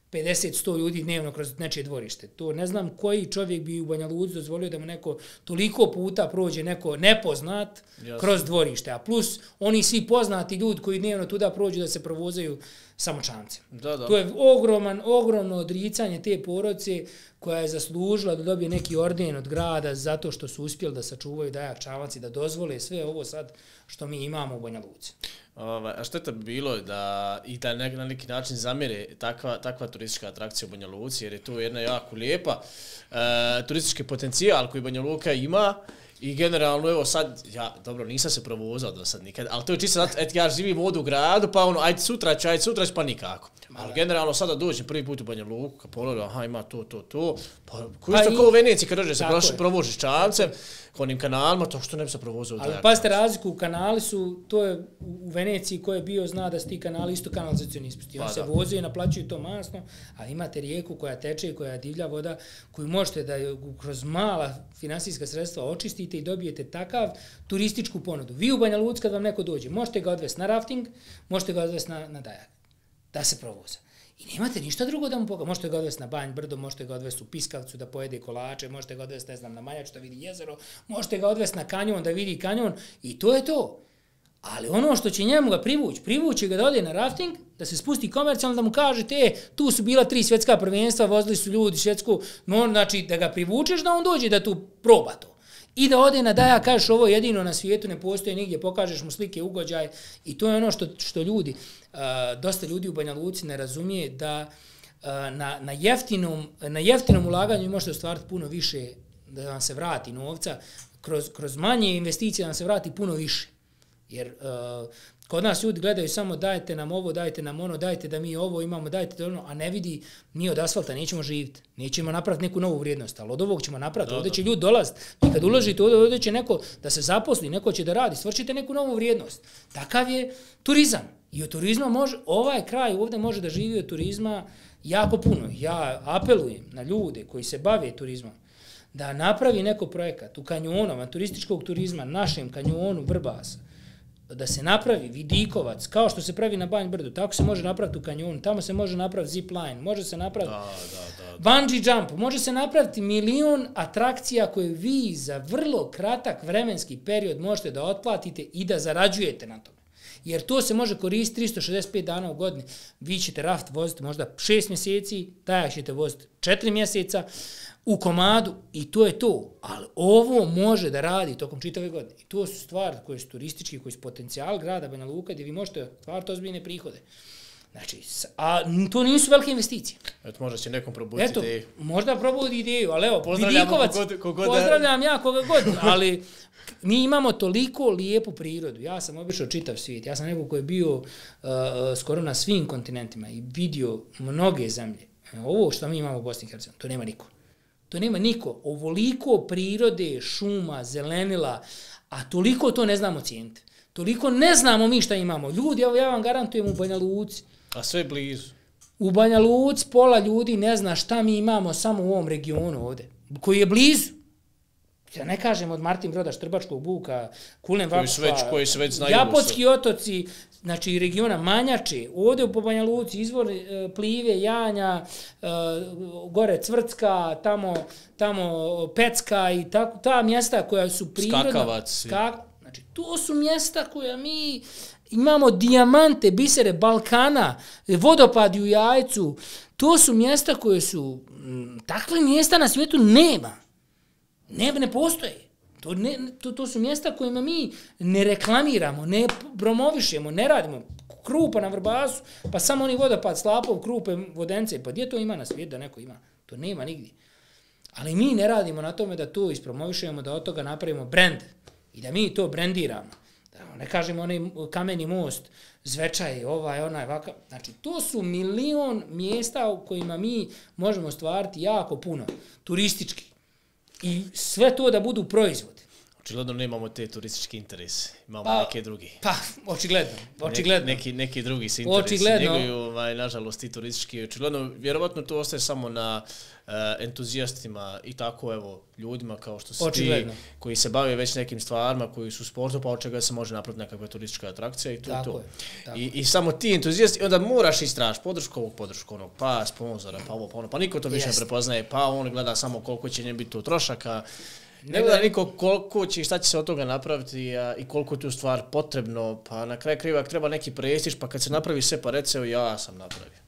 pedeset do sto ljudi dnevno kroz nečije dvorište. To ne znam koji čovjek bi u Banja Luci dozvolio da mu neko toliko puta prođe neko nepoznat Jasne. kroz dvorište. A plus oni svi poznati ljudi koji dnevno tuda prođu da se provozaju samo čamcem. Da, da. To je ogroman, ogromno odricanje te porodice koja je zaslužila da dobije neki orden od grada zato što su uspjeli da sačuvaju Dajak čamac i da dozvole sve ovo sad što mi imamo u Banja Luci. Ovaj, a što je to bilo da i da ne, na neki način zamire takva, takva turistička atrakcija u Banja Luci, jer je to jedna jako lijepa e, turistički potencijal koji Banja Luka ima i generalno, evo sad, ja, dobro, nisam se provozao do sad nikad, ali to je čisto, et, ja živim ovdje u gradu, pa ono, ajde sutra ću, ajde sutra ću, pa nikako. Ali generalno sada dođem prvi put u Banja Luku, kad pogledam, aha, ima to, to, to, pa koji što kao u Veneciji kad dođe se provožiš čamcem, onim kanalima, to što ne bi se provozao. Ali pazite razliku, kanali su, to je u Veneciji ko je bio zna da su ti kanali isto kanalizacioni ispusti. On pa, se da. voze i naplaćuju to masno, ali imate rijeku koja teče i koja je divlja voda, koju možete da kroz mala finansijska sredstva očistite i dobijete takav turističku ponudu. Vi u Banja Luci kad vam neko dođe, možete ga odvesti na rafting, možete ga odvesti na, na Dajak, da se provoza. I nemate ništa drugo da mu pokaže. Možete ga odvesti na Banj brdo, možete ga odvesti u Piskavcu da pojede kolače, možete ga odvesti, ne znam, na Maljač da vidi jezero, možete ga odvesti na kanjon da vidi kanjon i to je to. Ali ono što će njemu ga privući, privući ga da ode na rafting, da se spusti komercijalno, da mu kažete, e, tu su bila tri svjetska prvenstva, vozili su ljudi svjetsku, no, znači da ga privučeš da on dođe da tu proba to. I da ode na Dajak, kažeš ovo jedino na svijetu, ne postoji nigdje, pokažeš mu slike, ugođaj i to je ono što, što ljudi, uh, dosta ljudi u Banja Luci ne razumije da uh, na, na, jeftinom, na jeftinom ulaganju možete ostvariti puno više, da vam se vrati novca, kroz, kroz manje investicije da vam se vrati puno više. Jer uh, Kod nas ljudi gledaju samo dajte nam ovo, dajte nam ono, dajte da mi ovo imamo, dajte da ono, a ne vidi, mi od asfalta nećemo živjeti, nećemo napraviti neku novu vrijednost, ali od ovog ćemo napraviti, ovdje će ljudi dolaziti. I kad uložite ovdje, ovdje će neko da se zaposli, neko će da radi, stvršite neku novu vrijednost. Takav je turizam. I od turizma može, ovaj kraj ovdje može da živi od turizma jako puno. Ja apelujem na ljude koji se bave turizmom da napravi neko projekat u kanjonu, turističkog turizma, našem kanjonu Vrbasa, da se napravi vidikovac, kao što se pravi na Banj Brdu, tako se može napraviti u kanjonu, tamo se može napraviti zip line, može se napraviti da, da, da, da. bungee jump, može se napraviti milion atrakcija koje vi za vrlo kratak vremenski period možete da otplatite i da zarađujete na tome. Jer to se može koristiti tristo šezdeset pet dana u godini. Vi ćete raft voziti možda šest mjeseci, tajak ćete voziti četiri mjeseca u komadu i to je to. Ali ovo može da radi tokom čitave godine. I to su stvari koje su turistički, koji su potencijal grada Banja Luka gdje vi možete stvariti ozbiljne prihode. Znači, a to nisu velike investicije. Eto, možda će nekom probuditi Eto, ideju. Možda probudi ideju, ali evo, vidikovac, kogod, kogod pozdravljam ja koga god, ali mi imamo toliko lijepu prirodu. Ja sam obišao čitav svijet. Ja sam neko koji je bio uh, skoro na svim kontinentima i vidio mnoge zemlje. Ovo što mi imamo u Bosni i Hercegovini, to nema niko. To nema niko. Ovoliko prirode, šuma, zelenila, a toliko to ne znamo cijeniti. Toliko ne znamo mi šta imamo. Ljudi, evo ja vam garantujem u Banja Luci. A sve blizu. U Banja Luci pola ljudi ne zna šta mi imamo samo u ovom regionu ovdje, koji je blizu. Ja ne kažem od Martin Broda, Štrbačkog buka, Kulen Vakufa, koji se već znaju. Japotski otoci, znači regiona Manjače, ovdje po Banja Luci, izvor e, Plive, Janja, e, gore Cvrcka, tamo, tamo Pecka i tako, ta mjesta koja su prirodna. Skakavac. Skak, znači, to su mjesta koja mi imamo dijamante, bisere Balkana, vodopadi u Jajcu, to su mjesta koje su, m, takve mjesta na svijetu nema. Ne, ne postoje. To, ne, to, to su mjesta kojima mi ne reklamiramo, ne promovišemo, ne radimo. Krupa na Vrbasu, pa samo oni vodopad Slapov, Krupe, Vodence, pa gdje to ima na svijetu da neko ima? To nema nigdje. Ali mi ne radimo na tome da to ispromovišemo, da od toga napravimo brend i da mi to brendiramo. Da ne kažemo onaj kameni most, Zvečaj, ovaj, onaj, vaka. Znači, to su milion mjesta u kojima mi možemo stvariti jako puno, turistički. I sve to da budu proizvodi. Očigledno nemamo te turističke interese, imamo pa, neke drugi. Pa, očigledno, očigledno. Neki, neki drugi se interesi očigledno. Njeguju, ovaj, nažalost, i turistički. Očigledno, vjerovatno to ostaje samo na uh, entuzijastima i tako, evo, ljudima kao što si ti, koji se bave već nekim stvarima, koji su sportu, pa od čega se može napraviti nekakva turistička atrakcija i to tako to. Je, tako. I, I samo ti entuzijasti, onda moraš istražiti podršku ovog, podršku onog, pa sponzora, pa ovo, pa ono, pa niko to više ne prepoznaje, pa on gleda samo koliko će njem biti to trošaka. Ne gleda niko koliko će i šta će se od toga napraviti a, i koliko je tu stvar potrebno, pa na kraju krivak treba neki prestiž, pa kad se napravi sve, pa reci, evo ja sam napravio.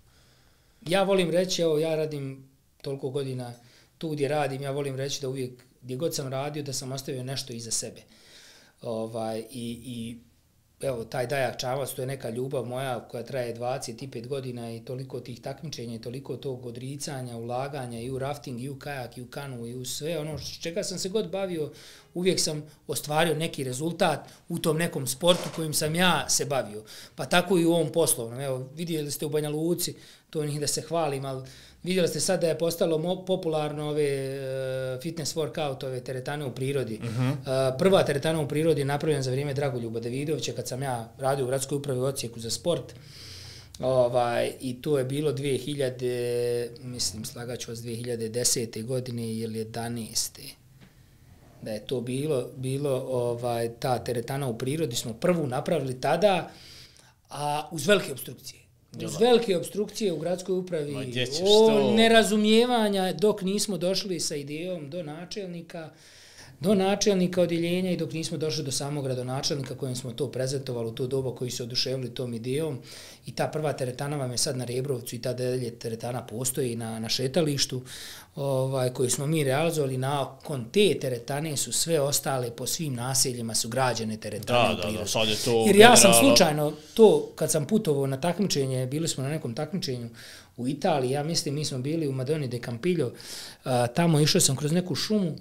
Ja volim reći, evo ja radim toliko godina tu gdje radim, ja volim reći da uvijek gdje god sam radio da sam ostavio nešto iza sebe. Ovaj, i, i evo taj Dajak Čamac, to je neka ljubav moja koja traje dvadeset pet godina i toliko tih takmičenja i toliko tog odricanja, ulaganja i u rafting, i u kajak, i u kanu, i u sve ono čega sam se god bavio, uvijek sam ostvario neki rezultat u tom nekom sportu kojim sam ja se bavio. Pa tako i u ovom poslovnom. Evo, vidjeli ste u Banja Luci, to nije da se hvalim, ali vidjeli ste sad da je postalo popularno ove uh, fitness workout, ove teretane u prirodi. Uh-huh. Uh, prva teretana u prirodi je napravljena za vrijeme Dragoljuba Davidovića kad sam ja radio u gradskoj upravi u Osijeku za sport. Ovaj, i to je bilo dvije hiljade, mislim, slagaću vas dvije hiljade desete godine ili jedanaeste Da je to bilo, bilo ovaj, ta teretana u prirodi, smo prvu napravili tada, a uz velike obstrukcije. Uz velike obstrukcije u gradskoj upravi, o nerazumijevanja dok nismo došli sa idejom do načelnika, do načelnika odjeljenja i dok nismo došli do samog gradonačelnika kojem smo to prezentovali u to doba koji su oduševili tom idejom. I ta prva teretana vam je sad na Rebrovcu i ta dalje teretana postoji na, na šetalištu ovaj, koju smo mi realizovali. Nakon te teretane su sve ostale po svim naseljima su građene teretane. Da, da, da, sad je to jer ja sam slučajno to, kad sam putovao na takmičenje, bili smo na nekom takmičenju u Italiji, ja mislim mi smo bili u Madoni de Campiglio, a, tamo išao sam kroz neku šumu,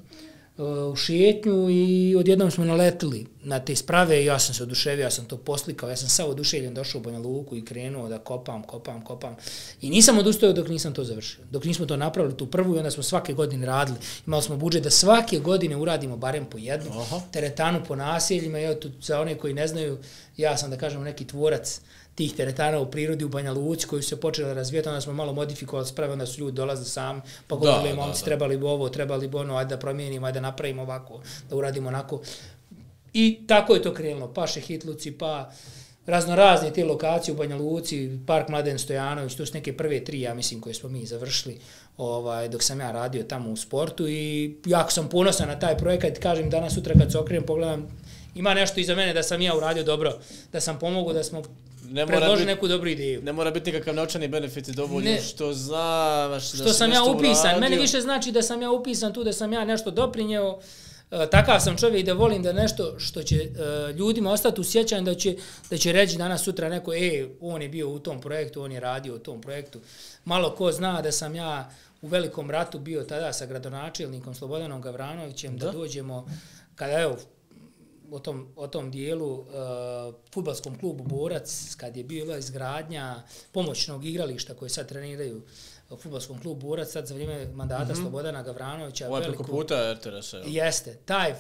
u šetnju i odjednom smo naletili na te sprave i ja sam se oduševio, ja sam to poslikao, ja sam sav oduševljen došao u Banja Luku i krenuo da kopam, kopam, kopam. I nisam odustao dok nisam to završio. Dok nismo to napravili tu prvu i onda smo svake godine radili. Imali smo budžet da svake godine uradimo barem po jednu Aha. teretanu po naseljima. Evo tu, za one koji ne znaju, ja sam da kažem neki tvorac tih teretana u prirodi u Banja Luci koji su se počeli razvijati, onda smo malo modifikovali sprave, onda su ljudi dolazili sami, pa govorili, momci, trebali bi ovo, trebali bi ono, ajde da promijenimo, ajde da napravimo ovako, da uradimo onako. I tako je to krenulo, pa Šehitluci, pa razno razne te lokacije u Banja Luci, Park Mladen Stojanović, to su neke prve tri, ja mislim, koje smo mi završili ovaj, dok sam ja radio tamo u sportu i jako sam ponosan na taj projekat, kažem danas sutra kad se okrenem, pogledam, ima nešto iza mene da sam ja uradio dobro, da sam pomogao, da smo predložili neku dobru ideju. Ne mora biti nikakav novčani benefit dovoljno što znaš da što sam ja upisan. Uradio. Meni više znači da sam ja upisan tu, da sam ja nešto doprinjeo. E, takav sam čovjek da volim da nešto što će e, ljudima ostati u sjećanju, da će, da će reći danas sutra neko, e, on je bio u tom projektu, on je radio u tom projektu. Malo ko zna da sam ja u velikom ratu bio tada sa gradonačelnikom Slobodanom Gavranovićem, da, da dođemo, kada evo, o tom, o tom dijelu uh, fudbalskom klubu Borac, kad je bila izgradnja pomoćnog igrališta koje sad treniraju u fudbalskom klubu Borac, sad za vrijeme mandata mm-hmm. Slobodana Gavranovića. Ovo je preko puta er te eresa. Jeste. Taj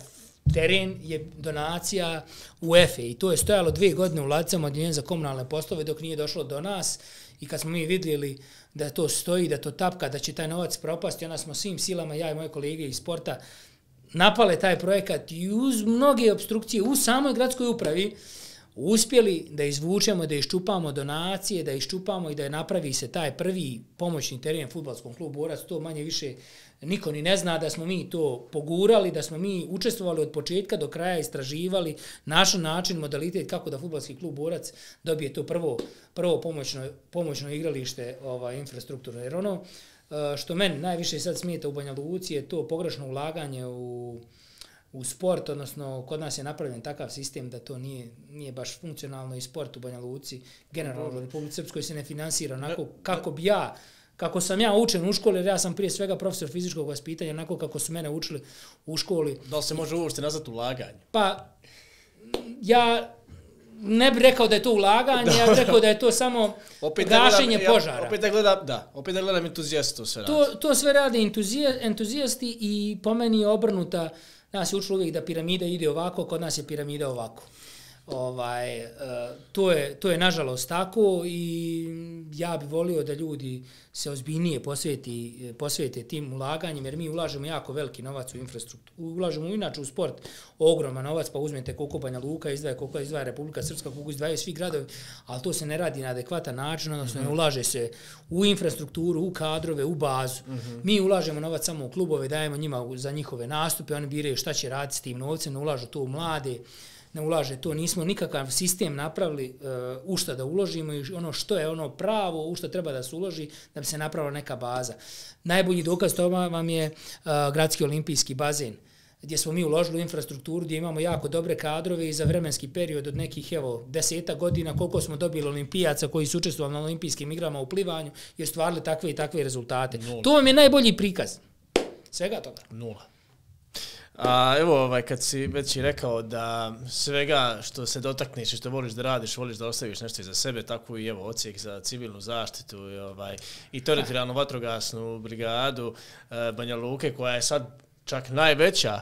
teren je donacija u Efe i to je stojalo dvije godine u ladicama odjeljenja za komunalne poslove dok nije došlo do nas i kad smo mi vidjeli da to stoji, da to tapka, da će taj novac propasti, onda smo svim silama, ja i moje kolege iz sporta, napale taj projekat i uz mnoge obstrukcije u samoj gradskoj upravi uspjeli da izvučemo, da iščupamo donacije, da iščupamo i da je napravi se taj prvi pomoćni teren fudbalskom klubu Borac. To manje više niko ni ne zna da smo mi to pogurali, da smo mi učestvovali od početka do kraja, istraživali naš način, modalitet kako da fudbalski klub Borac dobije to prvo, prvo pomoćno, pomoćno igralište ovaj, infrastrukturno. Jer ono što meni najviše sad smijeta u Banja Luci je to pogrešno ulaganje u, u sport, odnosno kod nas je napravljen takav sistem da to nije, nije baš funkcionalno i sport u Banja Luci, generalno u Republici Srpskoj se ne finansira onako kako bi ja, kako sam ja učen u školi, jer ja sam prije svega profesor fizičkog vaspitanja, onako kako su mene učili u školi. Da li se može uopšte nazvati ulaganje? Pa, ja ne bih rekao da je to ulaganje, ja bih rekao da je to samo opet gašenje gledam, požara. Ja, opet da gledam, da, opet da gledam entuzijasti to sve radi. To, to sve rade entuzija, entuzijasti i po meni je obrnuta. Nas je učilo uvijek da piramida ide ovako, kod nas je piramida ovako. Ovaj, uh, to, je, to je nažalost tako i ja bih volio da ljudi se ozbiljnije posveti, posvete tim ulaganjem, jer mi ulažemo jako veliki novac u infrastrukturu. Ulažemo inače u sport ogroman novac, pa uzmete koliko Banja Luka izdvaja, koliko izdvaja Republika Srpska, koliko izdvajaju svi gradovi, ali to se ne radi na adekvatan način, odnosno ne ulaže se u infrastrukturu, u kadrove, u bazu. Mm-hmm. Mi ulažemo novac samo u klubove, dajemo njima za njihove nastupe, oni biraju šta će raditi s tim novcem, ne ulažu to u mlade, ne ulaže to, nismo nikakav sistem napravili uh, u šta da uložimo i ono što je ono pravo, u što treba da se uloži da bi se napravila neka baza. Najbolji dokaz toga vam je uh, gradski olimpijski bazen, gdje smo mi uložili u infrastrukturu, gdje imamo jako dobre kadrove i za vremenski period od nekih, evo, deseta godina, koliko smo dobili olimpijaca koji su učestvovali na olimpijskim igrama u plivanju i ostvarili takve i takve rezultate. Nula. To vam je najbolji prikaz. Svega toga. Nula. A evo, ovaj, kad si već i rekao da svega što se dotakneš i što voliš da radiš, voliš da ostaviš nešto iza sebe, tako i evo odsjek za civilnu zaštitu i, ovaj, i teritorijalnu vatrogasnu brigadu e, Banja Luke, koja je sad čak najveća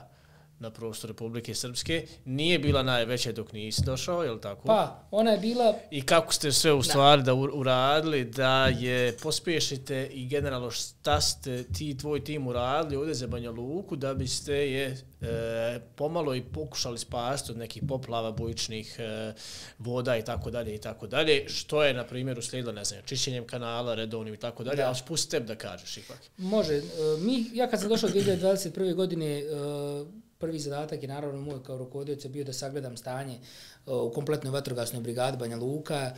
na prostoru Republike Srpske, nije bila najveća dok nisi došao, je li tako? Pa, ona je bila... I kako ste sve u stvari da uradili, da je pospješite i generalno šta ste ti tvoj tim uradili ovdje za Banja Luku, da biste je e, pomalo i pokušali spasti od nekih poplava, bujičnih e, voda i tako dalje i tako dalje, što je, na primjer, uslijedilo, ne znam, čišćenjem kanala, redovnim i tako dalje, ali spusti tebi da kažeš ipak. Može. Mi, ja kad sam došao dvije hiljade dvadeset prve. godine, prvi zadatak je naravno moj kao rukovodioca bio da sagledam stanje u kompletnoj vatrogasnoj brigadi Banja Luka.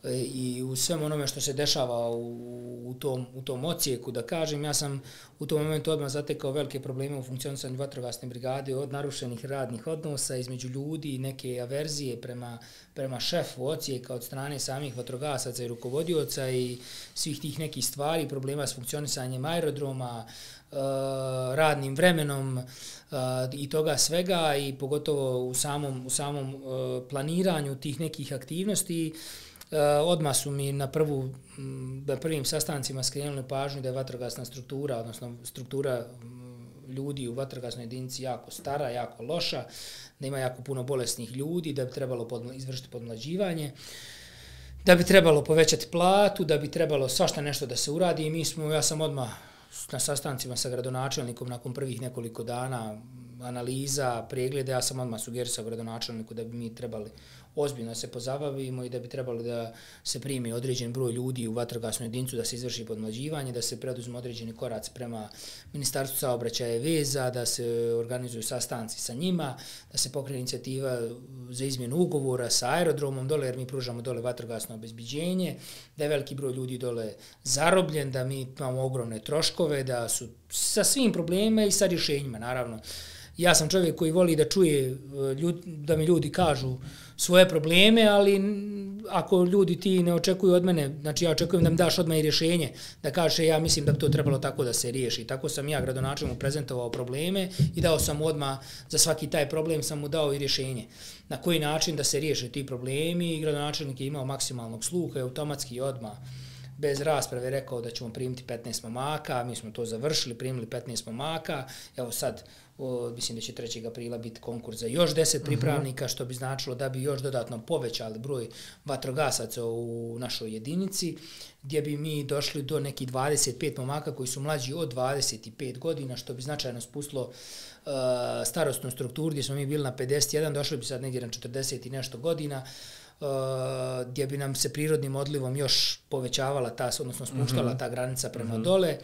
i u svem onome što se dešava u, u, tom, u tom ocijeku, da kažem, ja sam u tom momentu odmah zatekao velike probleme u funkcionisanju vatrogasne brigade, od narušenih radnih odnosa između ljudi, neke averzije prema, prema šefu ocijeka od strane samih vatrogasaca i rukovodioca i svih tih nekih stvari, problema s funkcionisanjem aerodroma, radnim vremenom i toga svega i pogotovo u samom, u samom planiranju tih nekih aktivnosti. Odmah su mi na, prvu, na prvim sastancima skrenuli pažnju da je vatrogasna struktura, odnosno struktura ljudi u vatrogasnoj jedinici jako stara, jako loša, da ima jako puno bolesnih ljudi, da bi trebalo podmla, izvršiti podmlađivanje, da bi trebalo povećati platu, da bi trebalo svašta nešto da se uradi i mi smo, ja sam odmah na sastancima sa gradonačelnikom nakon prvih nekoliko dana analiza, preglede, ja sam odmah sugerisao gradonačelniku da bi mi trebali ozbiljno se pozabavimo i da bi trebalo da se primi određen broj ljudi u vatrogasnu jedinicu, da se izvrši podmlađivanje, da se preduzmu određeni koraci prema Ministarstvu saobraćaja i veza, da se organizuju sastanci sa njima, da se pokrene inicijativa za izmjenu ugovora sa aerodromom dole, jer mi pružamo dole vatrogasno obezbeđenje, da je veliki broj ljudi dole zarobljen, da mi imamo ogromne troškove, da su sa svim problemima i sa rješenjima, naravno. Ja sam čovjek koji voli da čuje, da mi ljudi kažu svoje probleme, ali ako ljudi ti ne očekuju od mene, znači ja očekujem da mi daš odmah i rješenje, da kaže ja mislim da bi to trebalo tako da se riješi. Tako sam ja gradonačelniku prezentovao probleme i dao sam odmah za svaki taj problem sam mu dao i rješenje. Na koji način da se riješe ti problemi i gradonačelnik je imao maksimalnog sluha i automatski odmah bez rasprave rekao da ćemo primiti petnaest momaka, mi smo to završili, primili petnaest momaka, evo sad, o, mislim da će trećeg aprila biti konkurs za još deset pripravnika, što bi značilo da bi još dodatno povećali broj vatrogasaca u našoj jedinici, gdje bi mi došli do nekih dvadeset pet momaka koji su mlađi od dvadeset pet godina, što bi značajno spustilo uh, starostnu strukturu, gdje smo mi bili na pedeset jedan, došli bi sad negdje na četrdeset i nešto godina, Uh, gdje bi nam se prirodnim odlivom još povećavala ta, odnosno spuštala mm-hmm. ta granica prema mm-hmm. dole.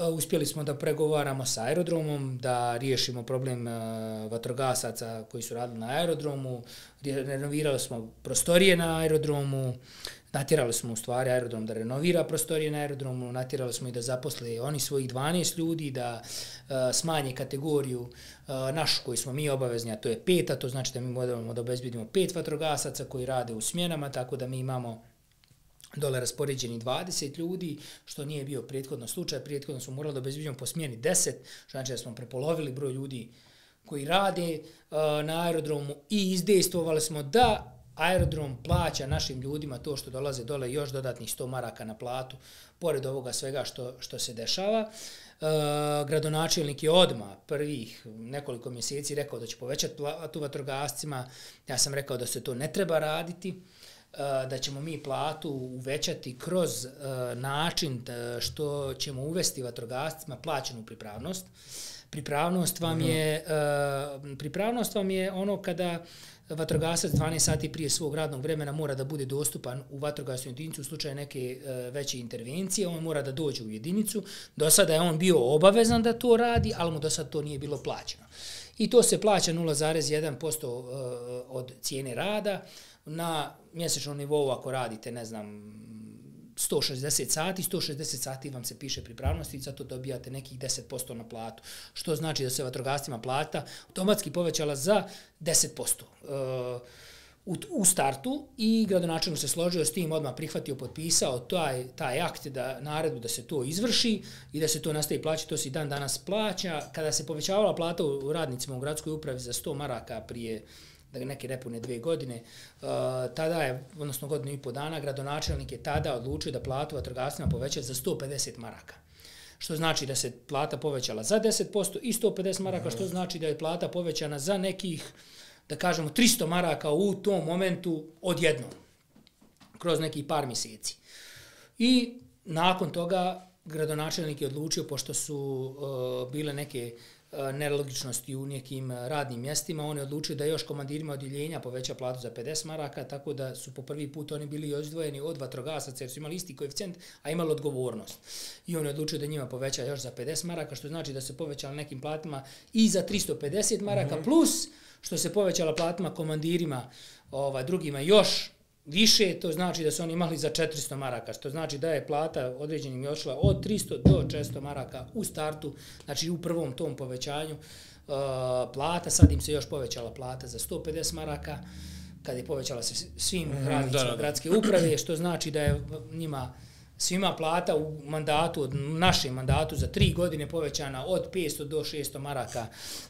Uh, uspjeli smo da pregovaramo sa aerodromom, da riješimo problem uh, vatrogasaca koji su radili na aerodromu, renovirali smo prostorije na aerodromu, natjerali smo u stvari aerodrom da renovira prostorije na aerodromu, natjerali smo i da zaposle oni svojih dvanaest ljudi, da uh, smanje kategoriju uh, našu koju smo mi obavezni, a to je pet, a to znači da mi moramo da obezbedimo pet vatrogasaca koji rade u smjenama, tako da mi imamo dole raspoređeni dvadeset ljudi, što nije bio prethodno slučaj. Prethodno smo morali da obezbedimo po smjeni deset, što znači da smo prepolovili broj ljudi koji rade uh, na aerodromu i izdejstvovali smo da aerodrom plaća našim ljudima to što dolaze dole još dodatnih sto maraka na platu, pored ovoga svega što, što se dešava. Uh, gradonačelnik je odmah prvih nekoliko mjeseci rekao da će povećati platu vatrogascima. Ja sam rekao da se to ne treba raditi, uh, da ćemo mi platu uvećati kroz uh, način da što ćemo uvesti vatrogascima plaćenu pripravnost. Pripravnost vam je, uh, pripravnost vam je ono kada vatrogasac dvanaest sati prije svog radnog vremena mora da bude dostupan u vatrogasnu jedinicu u slučaju neke e, veće intervencije, on mora da dođe u jedinicu. Do sada je on bio obavezan da to radi, ali mu do sada to nije bilo plaćeno. I to se plaća nula zarez jedan posto e, od cijene rada na mjesečnom nivou ako radite, ne znam, sto šezdeset sati, sto šezdeset sati vam se piše pripravnosti i zato dobijate nekih deset posto na platu, što znači da se vatrogascima plata automatski povećala za deset posto uh, u, u startu i gradonačelnik se složio s tim, odmah prihvatio, potpisao taj, taj akt, da, naredbu da se to izvrši i da se to nastavi plaćati, to se i dan danas plaća. Kada se povećavala plata u radnicima u gradskoj upravi za sto maraka prije da neke nepune dvije godine, uh, tada je, odnosno godinu i po dana, gradonačelnik je tada odlučio da platu vatrogascima poveća za sto pedeset maraka. Što znači da se plata povećala za deset posto i sto pedeset maraka, što znači da je plata povećana za nekih, da kažemo, tristo maraka u tom momentu odjednom, kroz nekih par mjeseci. I nakon toga gradonačelnik je odlučio, pošto su uh, bile neke nelogičnosti u nekim radnim mjestima, on je odlučio da još komandirima odjeljenja poveća platu za pedeset maraka, tako da su po prvi put oni bili izdvojeni od vatrogasaca jer su imali isti koeficijent, a imali odgovornost. I on je odlučio da njima poveća još za pedeset maraka, što znači da se povećala nekim platima i za tristo pedeset maraka, mm-hmm. plus što se povećala platima komandirima, ovaj, drugima još više, to znači da su oni imali za četiristo maraka, što znači da je plata određenim je odšla od tristo do četiristo maraka u startu, znači u prvom tom povećanju uh, plata, sad im se još povećala plata za sto pedeset maraka, kad je povećala se svim mm, radnicima da, da. gradske uprave, što znači da je njima svima plata u mandatu, od našem mandatu za tri godine povećana od petsto do šesto maraka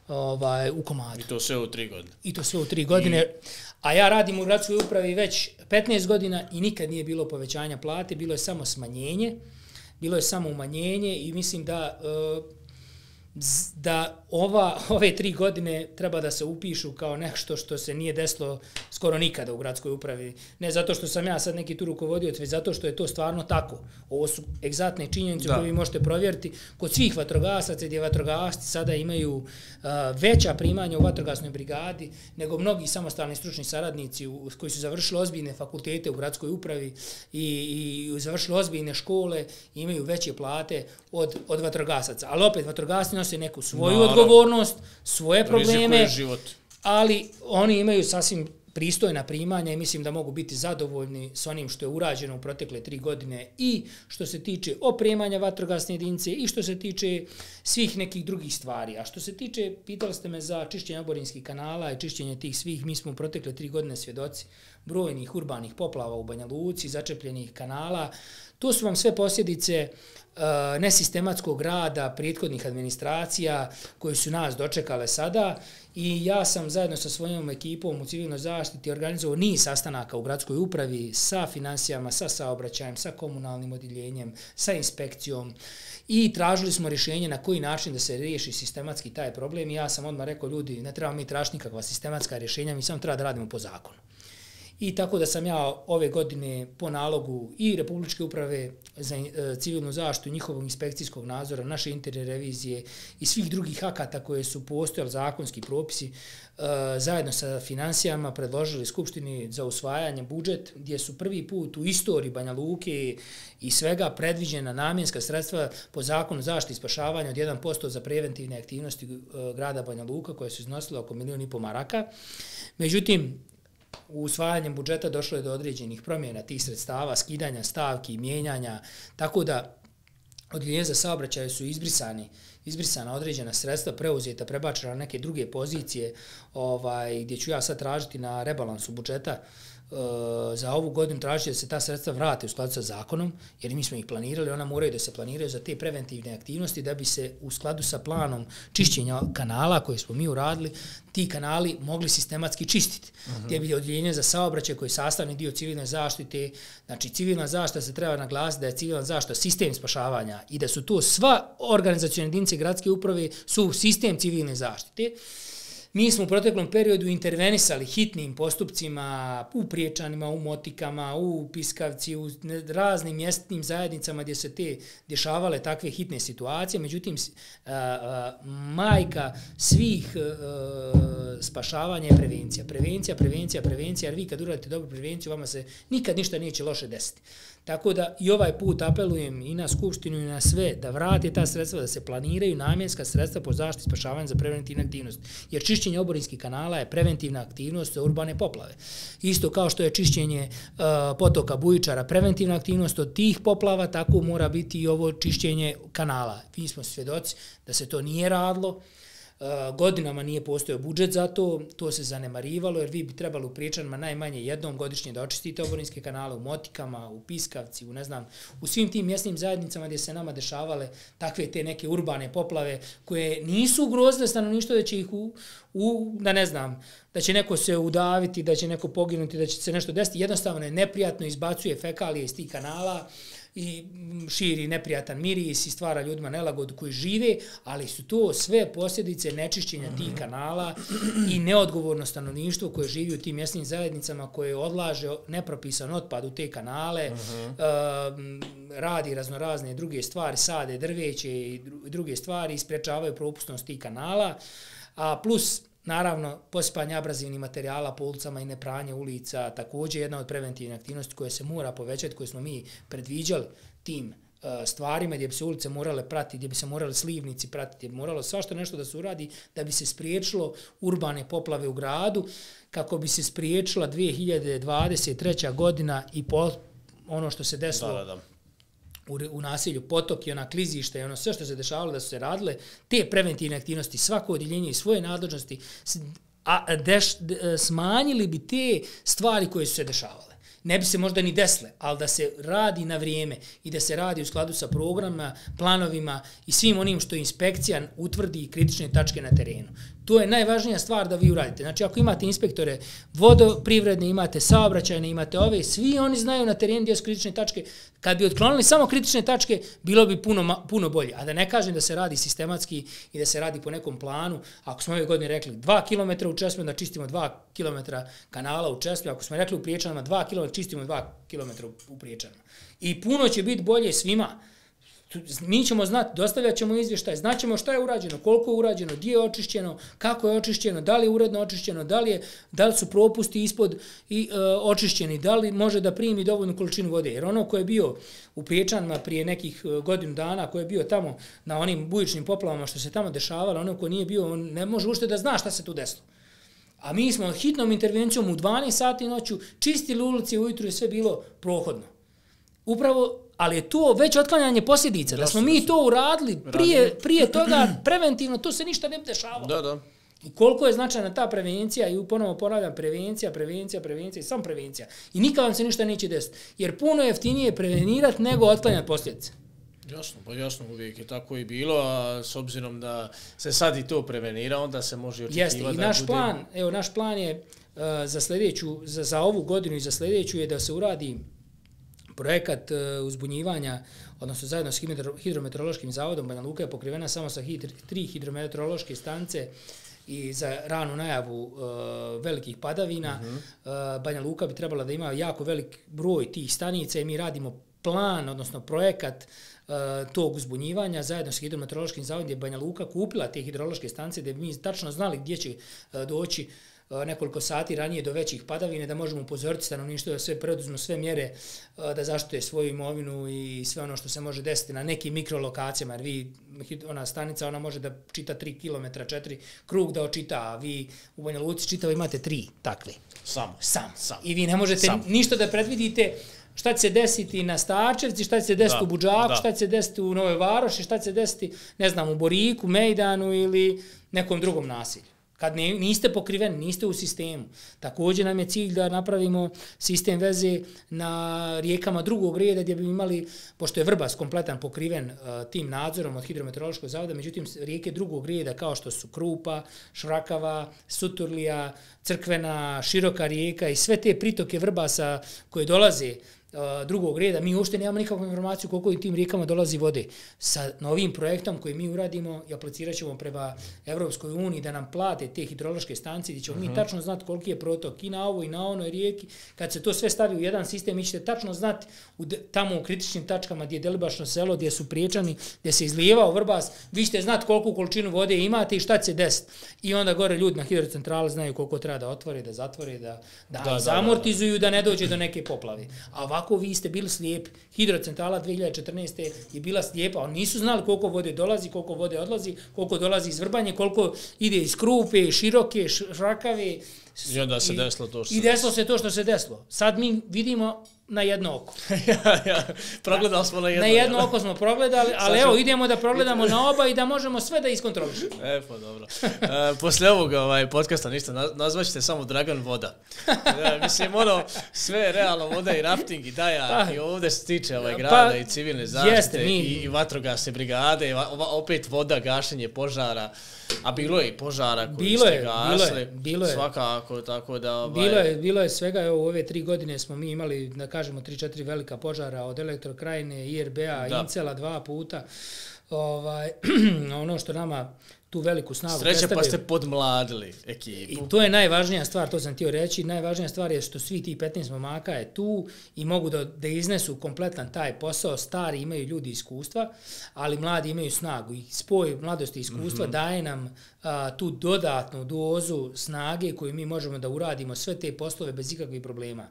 ovaj, u komadu. I to sve u tri godine. I to sve u tri godine. I... A ja radim u gradskoj upravi već petnaest godina i nikad nije bilo povećanja plate, bilo je samo smanjenje, bilo je samo umanjenje i mislim da... Uh, da ova, ove tri godine treba da se upišu kao nešto što se nije desilo skoro nikada u gradskoj upravi. Ne zato što sam ja sad neki tu rukovodioc, već zato što je to stvarno tako. Ovo su egzaktne činjenice koje vi možete provjeriti kod svih vatrogasaca, gdje vatrogasci sada imaju uh, veća primanja u vatrogasnoj brigadi nego mnogi samostalni stručni saradnici u, koji su završili ozbiljne fakultete u gradskoj upravi i, i završili ozbiljne škole i imaju veće plate od, od vatrogasaca. Ali opet, vatrogasci nose neku svoju no, odgovornost, svoje probleme, ali oni imaju sasvim pristojna primanja i mislim da mogu biti zadovoljni s onim što je urađeno u protekle tri godine i što se tiče opremanja vatrogasne jedinice i što se tiče svih nekih drugih stvari. A što se tiče, pitali ste me za čišćenje oborinskih kanala i čišćenje tih svih, mi smo u protekle tri godine svjedoci brojnih urbanih poplava u Banja Luci, začepljenih kanala. To su vam sve posljedice uh, nesistematskog rada prethodnih administracija koje su nas dočekale sada i ja sam zajedno sa svojom ekipom u civilnoj zaštiti organizovao niz sastanaka u gradskoj upravi sa financijama, sa saobraćajem, sa komunalnim odjeljenjem, sa inspekcijom i tražili smo rješenje na koji način da se riješi sistematski taj problem i ja sam odmah rekao, ljudi, ne treba mi tražiti nikakva sistematska rješenja, mi samo treba da radimo po zakonu. I tako da sam ja ove godine po nalogu i Republičke uprave za civilnu zaštitu, njihovog inspekcijskog nadzora, naše interne revizije i svih drugih akata koje su postojali zakonski propisi, zajedno sa financijama predložili Skupštini za usvajanje budžet, gdje su prvi put u istoriji Banja Luke i svega predviđena namjenska sredstva po zakonu zaštite i spašavanja od jedan posto za preventivne aktivnosti grada Banja Luka, koje su iznosile oko milijun i po maraka. Međutim, u usvajanjem budžeta došlo je do određenih promjena tih sredstava, skidanja stavki, mijenjanja, tako da odjeljenje za saobraćaj su izbrisani, izbrisana određena sredstva, preuzeta, prebačena na neke druge pozicije, ovaj, gdje ću ja sad tražiti na rebalansu budžeta za ovu godinu tražiti da se ta sredstva vrate u skladu sa zakonom, jer mi smo ih planirali, ona moraju da se planiraju za te preventivne aktivnosti da bi se u skladu sa planom čišćenja kanala koje smo mi uradili, ti kanali mogli sistematski čistiti. Uh-huh. Gdje bi odjeljenje za saobraćaj koji je sastavni dio civilne zaštite, znači civilna zaštita se treba naglasiti da je civilna zaštita sistem spašavanja i da su to sva organizacione jedinice gradske uprave su sistem civilne zaštite. Mi smo u proteklom periodu intervenisali hitnim postupcima u Priječanima, u Motikama, u Piskavci, u raznim mjesnim zajednicama gdje se te dešavale takve hitne situacije. Međutim, a, a, majka svih a, spašavanja je prevencija. Prevencija, prevencija, prevencija, jer vi kad uradite dobru prevenciju, vama se nikad ništa neće loše desiti. Tako da i ovaj put apelujem i na Skupštinu i na sve da vrate ta sredstva, da se planiraju namjenska sredstva po zaštiti i spašavanju za preventivne aktivnosti. Jer čišćenje oborinskih kanala je preventivna aktivnost za urbane poplave. Isto kao što je čišćenje uh, potoka Bujičara preventivna aktivnost od tih poplava, tako mora biti i ovo čišćenje kanala. Mi smo svjedoci da se to nije radilo. Uh, godinama nije postojao budžet za to, to se zanemarivalo, jer vi bi trebali u Priječanima najmanje jednom godišnje da očistite oborinske kanale u Motikama, u Piskavci, u ne znam, u svim tim mjesnim zajednicama gdje se nama dešavale takve te neke urbane poplave koje nisu ugrozile stanovništvo, da će ih u, u, da ne znam, da će neko se udaviti, da će neko poginuti, da će se nešto desiti, jednostavno je neprijatno, izbacuje fekalije iz tih kanala i širi neprijatan miris i stvara ljudima nelagodu koji žive, ali su to sve posljedice nečišćenja tih kanala i neodgovorno stanovništvo koje živi u tim mjesnim zajednicama, koje odlaže nepropisan otpad u te kanale, uh-huh. uh, radi raznorazne druge stvari, sade drveće i druge stvari, isprečavaju propusnost tih kanala, a plus naravno, posipanje abrazivnih materijala po ulicama i nepranje ulica, također jedna od preventivnih aktivnosti koje se mora povećati, koje smo mi predviđali tim stvarima gdje bi se ulice morale pratiti, gdje bi se morali slivnici pratiti, gdje bi moralo svašta nešto da se uradi da bi se spriječilo urbane poplave u gradu, kako bi se spriječila dvije hiljade dvadeset treća godina i po, ono što se desilo da, da, da. U, u nasilju Potok i ona klizišta i ono sve što se dešavalo da su se radile, te preventivne aktivnosti, svako odjeljenje i svoje nadležnosti, a deš, de, smanjili bi te stvari koje su se dešavale. Ne bi se možda ni desile, ali da se radi na vrijeme i da se radi u skladu sa programima, planovima i svim onim što inspekcija utvrdi kritične tačke na terenu. To je najvažnija stvar da vi uradite. Znači, ako imate inspektore vodoprivredne, imate saobraćajne, imate ove, svi oni znaju na terenu gdje su kritične tačke. Kad bi otklonili samo kritične tačke, bilo bi puno, puno bolje. A da ne kažem da se radi sistematski i da se radi po nekom planu. Ako smo ove godine rekli dva kilometra u Česmi, onda čistimo dva kilometra kanala u Česmi. Ako smo rekli u Priječanama dva kilometra, čistimo dva kilometra u Priječanama. I puno će biti bolje svima. Mi ćemo znati, dostavljat ćemo izvještaj, znaćemo šta je urađeno, koliko je urađeno, gdje je očišćeno, kako je očišćeno, da li je uredno očišćeno, da li, je, da li su propusti ispod i, e, očišćeni, da li može da primi dovoljnu količinu vode. Jer ono ko je bio u Priječanima prije nekih godinu dana, ko je bio tamo na onim bujičnim poplavama što se tamo dešavalo, ono ko nije bio, on ne može ušte da zna šta se tu desilo. A mi smo hitnom intervencijom u dvanaest sati noću čistili ulici ujutru i sve bilo prohodno. Upravo, ali je to već otklanjanje posljedica. Da smo mi to uradili prije, prije toga preventivno, to se ništa ne bi dešavalo. Da, da. I koliko je značajna ta prevencija, i ponovo ponavljam, prevencija, prevencija, prevencija i samo prevencija. I nikad vam se ništa neće desiti. Jer puno jeftinije prevenirati nego otklanjati posljedice. Jasno, pa jasno, uvijek je tako i bilo, a s obzirom da se sad i to prevenira, onda se može očekivati. Jeste, i naš bude... plan, evo, naš plan je uh, za sljedeću, za, za ovu godinu i za sljedeću je da se uradi projekat uh, uzbunjivanja, odnosno zajedno s hidrometeorološkim zavodom. Banja Luka je pokrivena samo sa hidr, tri hidrometeorološke stanice i za ranu najavu uh, velikih padavina. Uh-huh. uh, Banja Luka bi trebala da ima jako velik broj tih stanica i mi radimo plan, odnosno projekat uh, tog uzbunjivanja zajedno s hidrometeorološkim zavodom gdje je Banja Luka kupila te hidrološke stanice da bi mi tačno znali gdje će uh, doći nekoliko sati ranije do većih padavine, da možemo upozoriti stanovništvo da sve preduzmu sve mjere da zaštite svoju imovinu i sve ono što se može desiti na nekim mikrolokacijama, jer vi, ona stanica, ona može da čita tri kilometra, četiri krug da očita, a vi u Banja Luci čitavo imate tri takve. Sam. Sam. Sam. I vi ne možete Sam. ništa da predvidite šta će se desiti na Starčevci, šta će se desiti da, u Budžaku, da. šta će se desiti u Novoj Varoši, šta će se desiti, ne znam, u Boriku, Mejdanu ili nekom drugom nasilju. Kad ne, niste pokriveni, niste u sistemu. Također nam je cilj da napravimo sistem veze na rijekama drugog reda gdje bi imali, pošto je Vrbas kompletan pokriven uh, tim nadzorom od hidrometeorološkog zavoda, međutim rijeke drugog reda kao što su Krupa, Šrakava, Suturlija, Crkvena, Široka rijeka i sve te pritoke Vrbasa koje dolaze drugog reda, mi uopšte nemamo nikakvu informaciju koliko i tim rijekama dolazi vode. Sa novim projektom koji mi uradimo i aplicirat ćemo prema Evropskoj uniji da nam plate te hidrološke stanice gdje ćemo uh-huh. mi tačno znati koliki je protok i na ovoj i na onoj rijeki. Kad se to sve stavi u jedan sistem, mi ćete tačno znati u de, tamo u kritičnim tačkama gdje je Delibašno selo, gdje su Priječani, gdje se izlijevao Vrbas, vi ćete znati koliko količinu vode imate i šta će se desiti. I onda gore ljudi na hidrocentrali znaju koliko treba da otvore, da zatvore, da, da, da zamortizuju, da, da, da. da ne dođe do neke poplave. A ovako vi ste bili slijepi. Hidrocentrala dvije hiljade četrnaeste. je bila slijepa. Oni nisu znali koliko vode dolazi, koliko vode odlazi, koliko dolazi iz Vrbanje, koliko ide iz Krupe, Široke, Šrakave. I onda se desilo to što I desilo se to što se desilo. Sad mi vidimo na jedno oko. ja, ja, progledali smo na jedno. Na jedno ja. oko smo progledali, ali evo idemo da progledamo na oba i da možemo sve da iskontrolišemo. E, pa dobro. E, poslije ovog ovaj, podcasta ništa, nazvaćete samo Dragan Voda. Ja, mislim, ono, sve realno voda i rafting i daja pa, i ovdje se tiče ovaj, grada pa, i civilne zaštite jeste, mi... i, i vatrogasne brigade, i opet voda, gašenje požara. A bilo je i požara koji bilo ste je, gasli, bilo je, bilo je. svakako, tako da... Ovaj... Bilo je, bilo je svega, evo, u ove tri godine smo mi imali, da kažemo, tri četiri velika požara od Elektrokrajine, I R B-a, Incela dva puta. Ovaj, ono što nama tu veliku snagu Sreće pa ste podmladili ekipu. I to je najvažnija stvar, to sam htio reći, najvažnija stvar je što svi ti petnaest momaka je tu i mogu da, da iznesu kompletan taj posao, stari imaju ljudi iskustva, ali mladi imaju snagu i spoj mladosti i iskustva mm-hmm. daje nam a, tu dodatnu dozu snage koju mi možemo da uradimo sve te poslove bez ikakvih problema.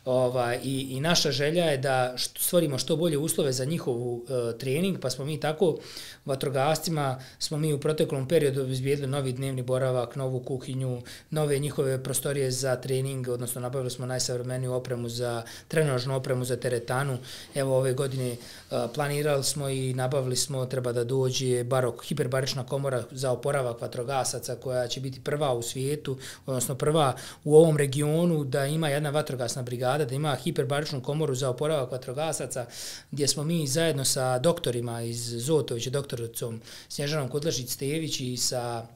Ovaj, i, i naša želja je da stvorimo što bolje uslove za njihov uh, trening, pa smo mi tako vatrogascima, smo mi u proteklom periodu obezbijedili novi dnevni boravak, novu kuhinju, nove njihove prostorije za trening, odnosno nabavili smo najsavremeniju opremu za trenažnu opremu za teretanu. Evo ove godine uh, planirali smo i nabavili smo, treba da dođe barok, hiperbarična komora za oporavak vatrogasaca koja će biti prva u svijetu, odnosno prva u ovom regionu da ima jedna vatrogasna brigada, da ima hiperbaričnu komoru za oporavak vatrogasaca, gdje smo mi zajedno sa doktorima iz Zotovića, doktoricom Snježanom Kudlašić-Stević i sa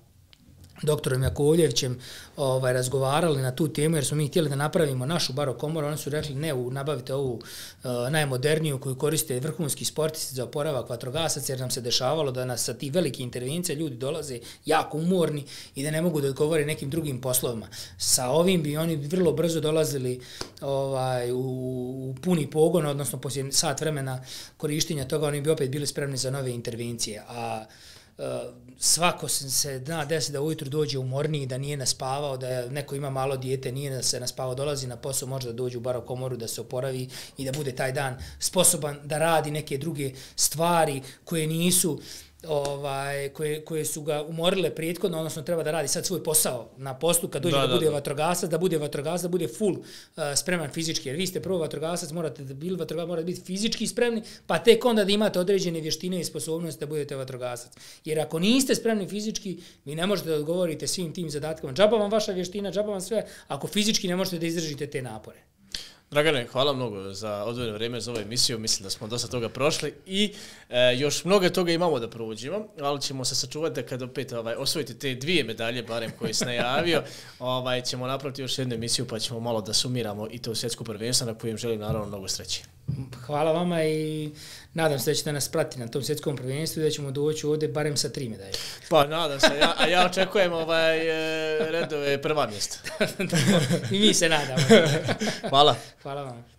doktorom Jakovljevićem ovaj, razgovarali na tu temu jer smo mi htjeli da napravimo našu barok komoru. Oni su rekli ne, nabavite ovu uh, najmoderniju koju koriste vrhunski sportisti za oporavak vatrogasaca jer nam se dešavalo da nas sa ti velike intervencije ljudi dolaze jako umorni i da ne mogu da odgovore nekim drugim poslovima. Sa ovim bi oni vrlo brzo dolazili ovaj, u, u puni pogon, odnosno poslije sat vremena korištenja toga oni bi opet bili spremni za nove intervencije. A Uh, svako se zna desi da ujutru dođe umorniji, da nije naspavao, da neko ima malo dijete, nije se naspavao, dolazi na posao, može da dođe u barok komoru, da se oporavi i da bude taj dan sposoban da radi neke druge stvari koje nisu ovaj koje koje su ga umorile prethodno, odnosno treba da radi sad svoj posao na poslu kad dođe da, da, da bude vatrogasac, da bude vatrogasac, da bude full uh, spreman fizički, jer vi ste prvo vatrogasac, morate da bili vatrogasac, morate biti fizički spremni, pa tek onda da imate određene vještine i sposobnosti da budete vatrogasac. Jer ako niste spremni fizički, vi ne možete da odgovorite svim tim zadatkama. Džaba vam vaša vještina, džaba vam sve, ako fizički ne možete da izdržite te napore. Dragane, hvala mnogo za odvojeno vrijeme za ovu emisiju, mislim da smo dosta toga prošli i e, još mnogo toga imamo da prođemo, ali ćemo se sačuvati da kad opet ovaj, osvojite te dvije medalje, barem koje se najavio, ovaj, ćemo napraviti još jednu emisiju pa ćemo malo da sumiramo i to svjetsko prvenstvo na kojem želim naravno mnogo sreće. Hvala vama i nadam se da ćete nas pratiti na tom svjetskom prvenstvu i da ćemo doći ovdje barem sa tri medalje. Pa nadam se, ja, a ja očekujem ovaj, redove prva mjesta. I mi se nadamo. Hvala. Hvala vam.